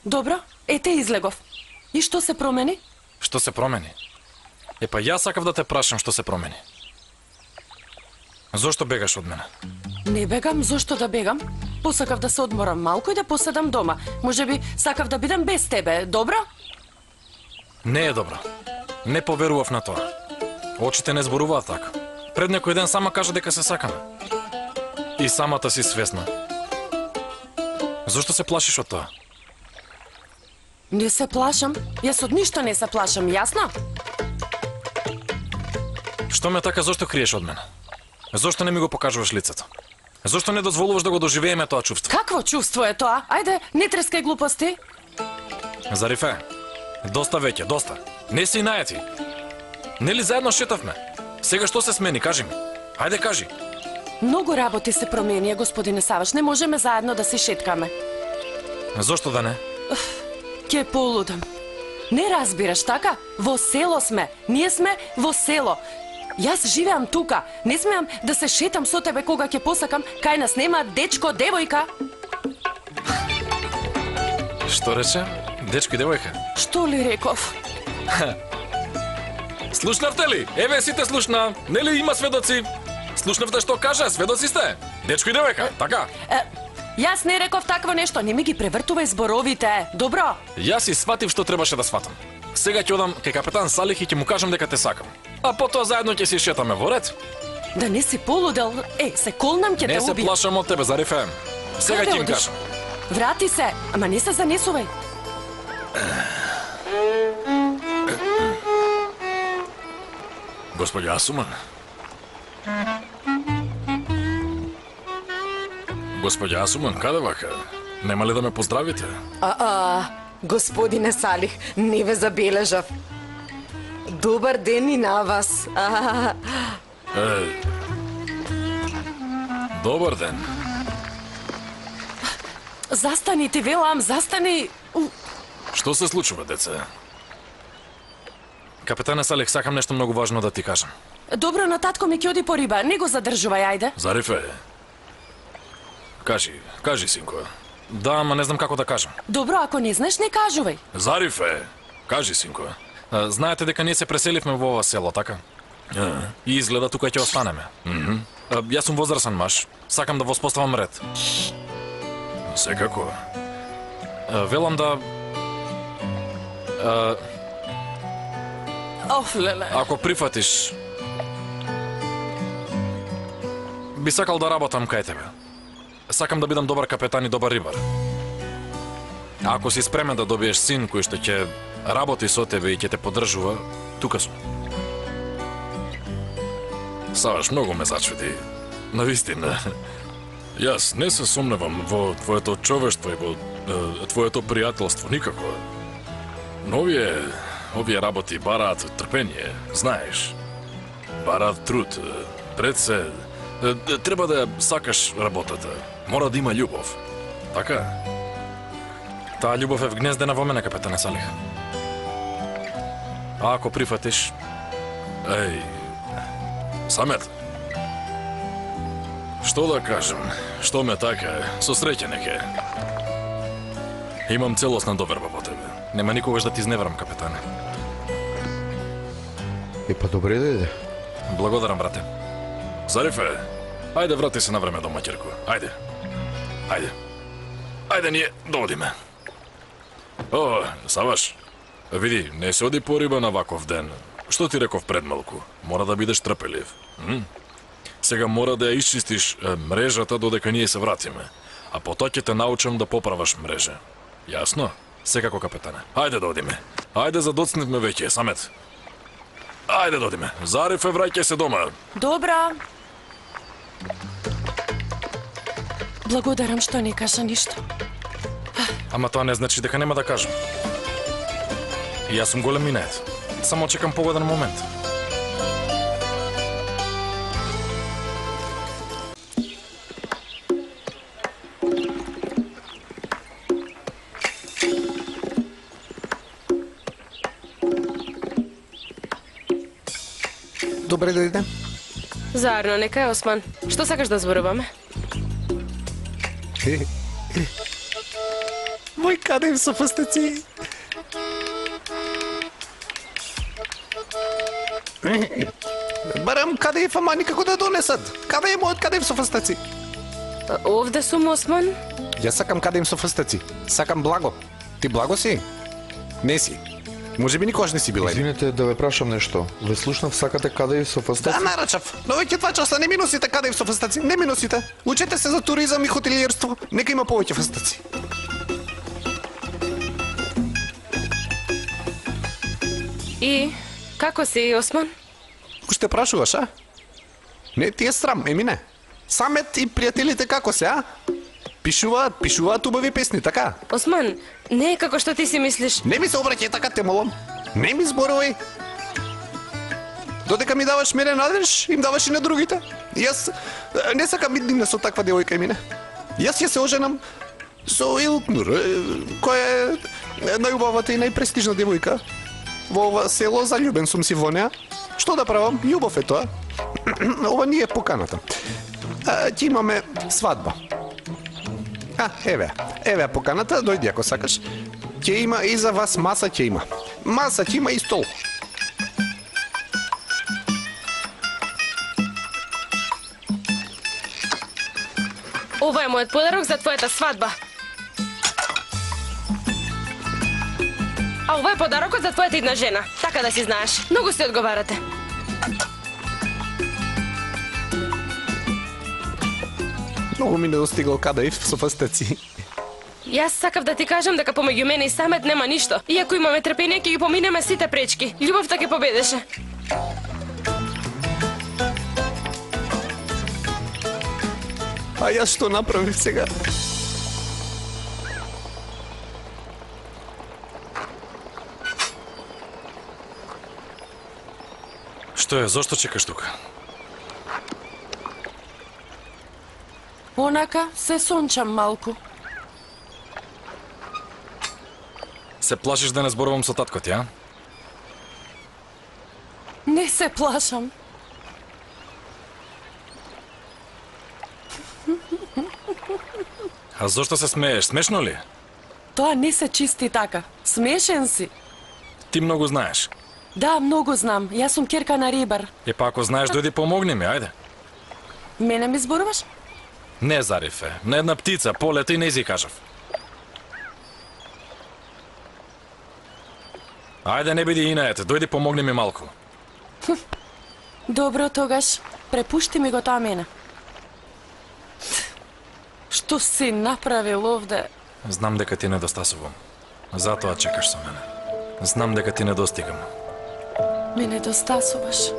Добро, ете излегов. И што се промени? Што се промени? Епа јас сакав да те прашам што се промени. Зошто бегаш од мене? Не бегам, зошто да бегам? Посакав да се одморам малку и да поседам дома. Можеби сакав да бидам без тебе, добро? Не е добро. Не поверував на тоа. Очите не зборуваат така. Пред некој ден сама кажа дека се сакаме. И самата си свесна. Зошто се плашиш од тоа? Не се плашам. Јас од ништо не се плашам, јасно? Што ме така, зошто криеш од мене? Зошто не ми го покажуваш лицето? Зошто не дозволуваш да го доживееме тоа чувство? Какво чувство е тоа? Ајде, не трескај глупости. Зарифе, доста веќе, доста. Не си најати. Нели заедно шетавме? Сега што се смени, кажи ми. Ајде кажи. Многу работи се променија, господине Саваш. Не можеме заедно да се шеткаме. Зошто да не? Ке полудам. Не разбираш, така? Во село сме. Ние сме во село. Јас живеам тука. Не смеам да се шетам со тебе кога ќе посакам. Кај нас нема дечко, девојка. Што рече? Дечко и девојка? Што ли реков? Слушнавте ли? Еве сите слушна. Нели има сведоци? Слушнавте што кажа? Сведоци сте? Дечко и девојка, така? Јас не реков такво нешто. Не ми ги превртувај зборовите. Добро? Јас и сватив што требаше да сватам. Сега ќе одам кај капетан Салих и ќе му кажам дека те сакам. А потоа заедно ќе си шетаме во ред. Да не си полудел. Се колнам ќе те убијам. Не се плашам од тебе, Зарифе. Сега ќе им кажам. Врати се, ама не се занесувај. Господја Асуман. Господја Асуман, каде вака? Нема ли да ме поздравите? Господине Салих, не ве забележав. Добар ден и на вас. Добар ден. Застани, ти велам, застани. Што се случува, деца? Капетане Салих, сакам нешто многу важно да ти кажам. Добро, на татко ми ќе оди по риба. Не го задржувај, ајде. Зарифе. Кажи, синко. Да, ама не знам како да кажам. Добро, ако не знаеш, не кажувај. Зарифе, кажи, синко. Знаете дека ние се преселивме во ова село, така? И изгледа тука ќе останеме. Јас сум возрасен маж. Сакам да воспоставам ред. Секако. Велам да... Леле. Ако прифатиш... Би сакал да работам кај тебе. Сакам да бидам добар капетан и добар рибар. Ако си спремен да добиеш син кој што ќе работи со тебе и ќе те поддржува, тука сум. Саваш, многу ме зачуди. Навистина. Јас не се сомневам во твоето човештво и во твоето пријателство, никако. Но овие работи бараат трпение, знаеш. Бараат труд. Пред се, треба да сакаш работата. Мора да има љубов. Така? Таа љубов е вгнездена во мене, капетане Салих. А ако прифатиш... Самет. Што да кажам? Што ме така? Со среќа неке. Имам целосна доверба во тебе. Нема никогаш да ти изневерам, капетане. Епа добре да иде. Благодарам, брате. Зарифе, ајде врати се на време дома, ќерко. Ајде. Ајде ние да одиме. Саваш, види, не се оди по риба на ваков ден. Што ти реков пред малку? Мора да бидеш трпелив. Сега мора да ја исчистиш мрежата додека ние се вратиме. А потоа ќе те научам да поправаш мрежа. Јасно? Секако, капетане. Ајде да одиме. Ајде задоцневме веќе, Самет. Ајде да одиме. Зарифе, враќај се дома. Добра. Благодарам што не кажа ништо. Ама тоа не значи дека нема да кажам. Јас сум голем минет. Само чекам погоден момент. Добре дојде. Заедно, нека е, Осман. Што сакаш да зборуваме? Мој каде им со фастаци? Барам каде е фама никако да донесат. Каде е мојот каде им со фастаци? Овде сум, Осман. Јас сакам каде им со фастаци. Сакам благо. Ти благо си? Не си. Може би никогаш не си била. Извинете да ве прашам нешто. Ве слушнав сакате каде со фастаци? Да, нарачав. Но веќе 2 часа не ми носите каде со фастаци. Не ми носите. Учете се за туризам и хотелиерство. Нека има повеќе фастаци. И како си, Осман? Уште прашуваш, а? Не ти е срам, Емине. Самет и пријателите како се, а? Пишуваат убави песни, така? Осман, не е како што ти си мислиш. Не ми се обраќај така, те молам. Не ми зборувај. Додека ми даваш мене надеж, им даваш и на другите. Јас не сакам иднина со таква девојка, Емине. Јас ќе се оженам со Илкнур, која е најубавата и најпрестижна девојка. Во ова село заљубен сум си во неа. Што да правам? Љубов е тоа. Ова не е поканата. Ќе имаме свадба. Еве поканата, дојди ако сакаш. Ќе има и за вас маса ќе има. Маса ќе има и стол. Ова е мојот подарок за твојата свадба. А ова е подарокот за твојата идна жена. Така да си знаеш. Многу си одговарате. Многу ми недостигал кадаив со фастаци. Јас сакав да ти кажам дека помеѓу мене и Самет нема ништо. И ако имаме трпение, ќе ги поминеме сите пречки. Љубовта ќе победеше. А јас што направив сега? Што е, зошто чекаш тука? Онака се сончам малку. Се плашиш да не зборувам со татко ти, а? Не се плашам. А зошто се смееш? Смешно ли? Тоа не се чисти така. Смешен си. Ти многу знаеш. Да, многу знам. Јас сум ќерка на рибар. Па ако знаеш, дојди помогни ми, ајде. Мене ми зборуваш? Не, Зарифе. На една птица, полета и не си кажав. Ајде, не биди инаете, дојди помогни ми малку. Добро, тогаш. Препушти ми го тоа мене. Што си направил овде? Знам дека ти недостасувам. Затоа чекаш со мене. Знам дека ти недостигам. Ме недостасуваш.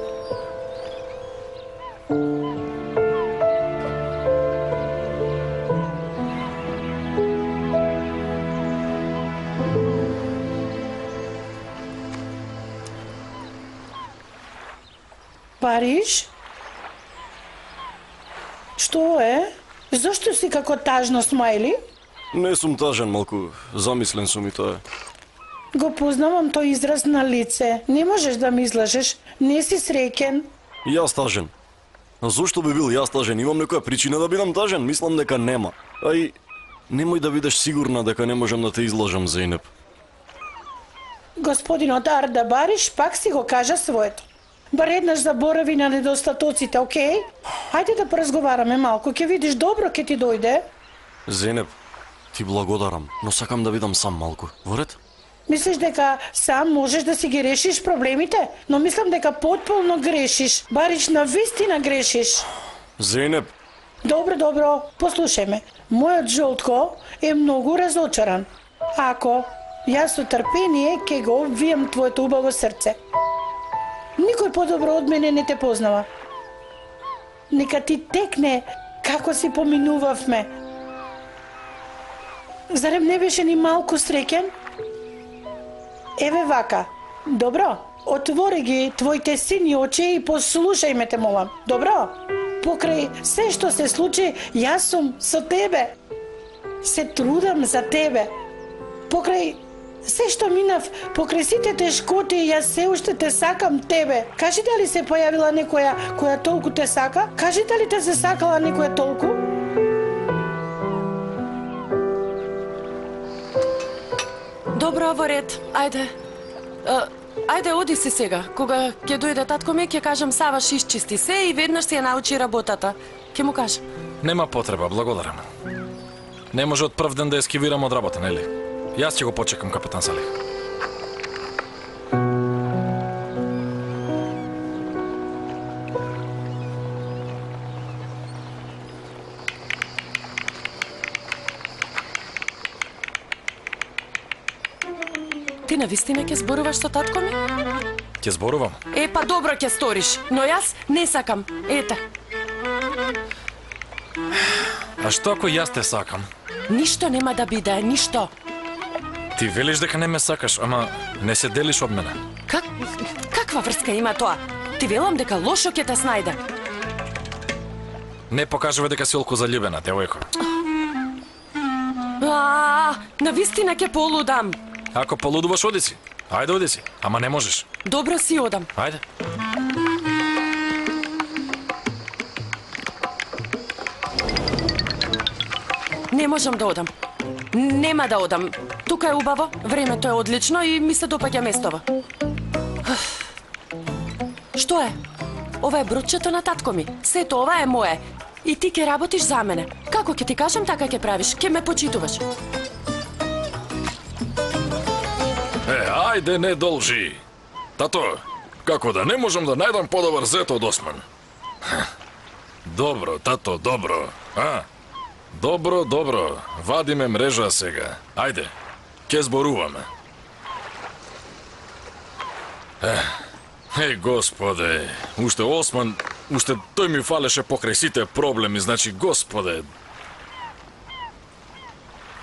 Париж? Што е? Зошто си како тажно смајли? Не сум тажен, малку замислен сум и тоа. Го познавам тој израз на лице. Не можеш да ми излажеш. Не си среќен. Јас тажен. А зошто би бил јас тажен? Имам некоја причина да бидам тажен? Мислам дека нема. А и немој да бидеш сигурна дека не можам да те излажам, Зејнеп. Господинот Арда Бариш пак си го кажа своето. Бар еднаш заборави на недостатоците, окей? Хајде да поразговараме малку, ќе видиш добро ќе ти дојде. Зејнеп, ти благодарам, но сакам да бидам сам малку. Во ред? Мислиш дека сам можеш да си ги решиш проблемите? Но мислам дека потполно грешиш. Барич на вистина грешиш. Зејнеп. Добро, послушај ме. Мојот жолтко е многу разочаран. Ако јас со трпение ќе го обвијам твоето убаво срце. Никој подобро од мене не те познава. Нека ти текне како си поминувавме. Зарем не беше ни малку среќен? Еве вака. Добро, отвори ги твоите сини очи и послушај ме, те молам. Добро? Покрај се што се случи, јас сум со тебе. Се трудам за тебе. Покрај Се што минав покрај сите тешкоти, јас се уште те сакам тебе. Кажи дали се појавила некоја која толку те сака? Кажи дали те се сакала некоја толку? Добро, во ред. Ајде. Ајде, оди си сега. Кога ќе дојде татко ми, ќе кажам Саваш исчисти се и веднаш си ја научи работата. Ќе му кажам. Нема потреба, благодарам. Не може од прв ден да ескивирам од работа, нели? Јас ќе го почекам, капетан Салих. Ти навистина ќе зборуваш со татко ми? Ќе зборувам? Па добро ќе сториш, но јас не сакам. Ете. А што ако јас те сакам? Ништо нема да биде, ништо. Ти велиш дека не ме сакаш, ама не се делиш од мене. Каква врска има тоа? Ти велам дека лошо ќе те снајде. Не покажува дека си олку заљубена, девојко. Навистина ќе полудам. Ако полудуваш, оди си. Ајде, оди си. Ама не можеш. Добро си одам. Ајде. Не можам да одам. Нема да одам. Тука е убаво, времето е одлично и ми се допаѓа местова. Што е? Ова е бродчето на татко ми. Сето ова е мое. И ти ќе работиш за мене. Како ќе ти кажам, така ќе правиш. Ќе ме почитуваш. Ајде, не должи. Тато, како да не можам да најдам подобар зет од Осман? Добро, тато, добро. Добро, добро. Вадиме мрежа сега. Ајде, ќе зборуваме. Господе, уште Осман, уште тој ми фалеше покрај сите проблеми, значи, Господе.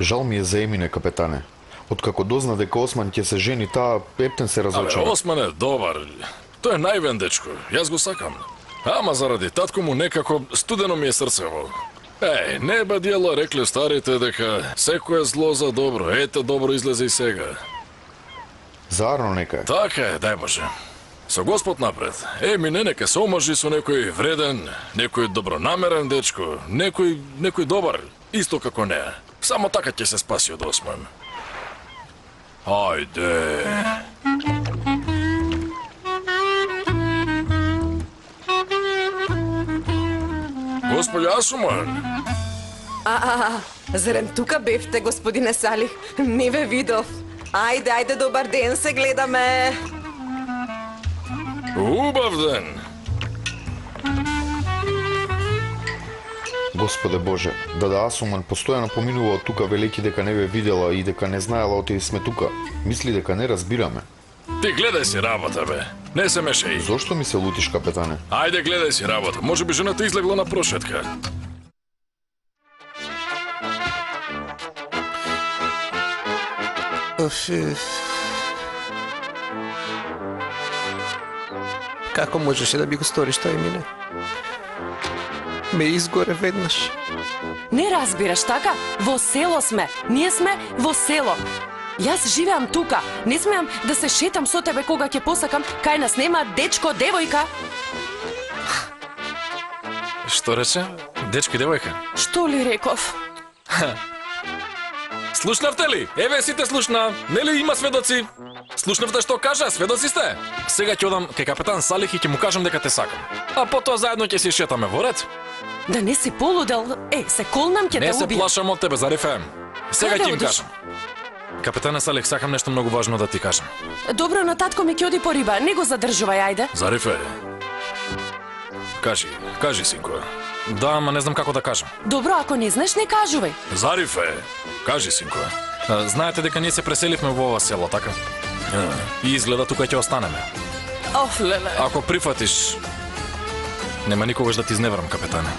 Жал ми е за Емине, капетане. Откако дозна дека Осман ќе се жени, таа ептен се разочара. Осман е добар. Тој е највен дечко. Јас го сакам. Ама заради татко му некако студено ми е срцево. Не ба дијело, рекле старите дека секое зло за добро. Ете, добро излезе и сега. Заарно нека е. Така е, дај Боже. Со Господ напред. Емине нека се омажи со некој вреден, некој добронамерен дечко, некој добар, исто како неа. Само така ќе се спаси од Осман. Ајде. Господи Асуман. Зарем тука бевте, господине Салих? Не ве видов. Ајде, добар ден, се гледаме. Убав ден. Господе Боже, Дада Асуман постојано поминува од тука велики дека не ве видела и дека не знаела оти сме тука. Мисли дека не разбираме. Ти гледај си работа, бе. Не се мешај. Зошто ми се лутиш, капетане? Ајде, гледај си работа. Може би жената излегла на прошетка. Како можеше да би го сториш тоа, Емине? Ме изгоре веднаш. Не разбираш, така? Во село сме. Ние сме во село. Јас живеам тука. Не смеам да се шетам со тебе кога ќе посакам. Кај нас нема дечко, девојка. Што рече? Дечко и девојка? Што ли реков? Слушнавте ли? Еве сите слушна. Нели има сведоци? Слушнавте што кажа? Сведоци сте? Сега ќе одам кај капетан Салих и ќе му кажам дека те сакам. А потоа заедно ќе си шетаме во ред. Да не си полудел? Се колнам, ќе те убијам. Не се плашам од тебе, Зарифе. Сега ќе им кажам. Капетане Салих, сакам нешто многу важно да ти кажам. Добро, на татко ми ќе оди по риба. Не го задржувај, ајде. Зарифе. Кажи, синко. Да, ама не знам како да кажам. Добро, ако не знаеш, не кажувај. Зарифе, кажи, синко. Знаете дека ние се преселивме во ова село, така? И изгледа тука ќе останеме. Леле. Ако прифатиш, нема никогаш да ти изневерам, капетане.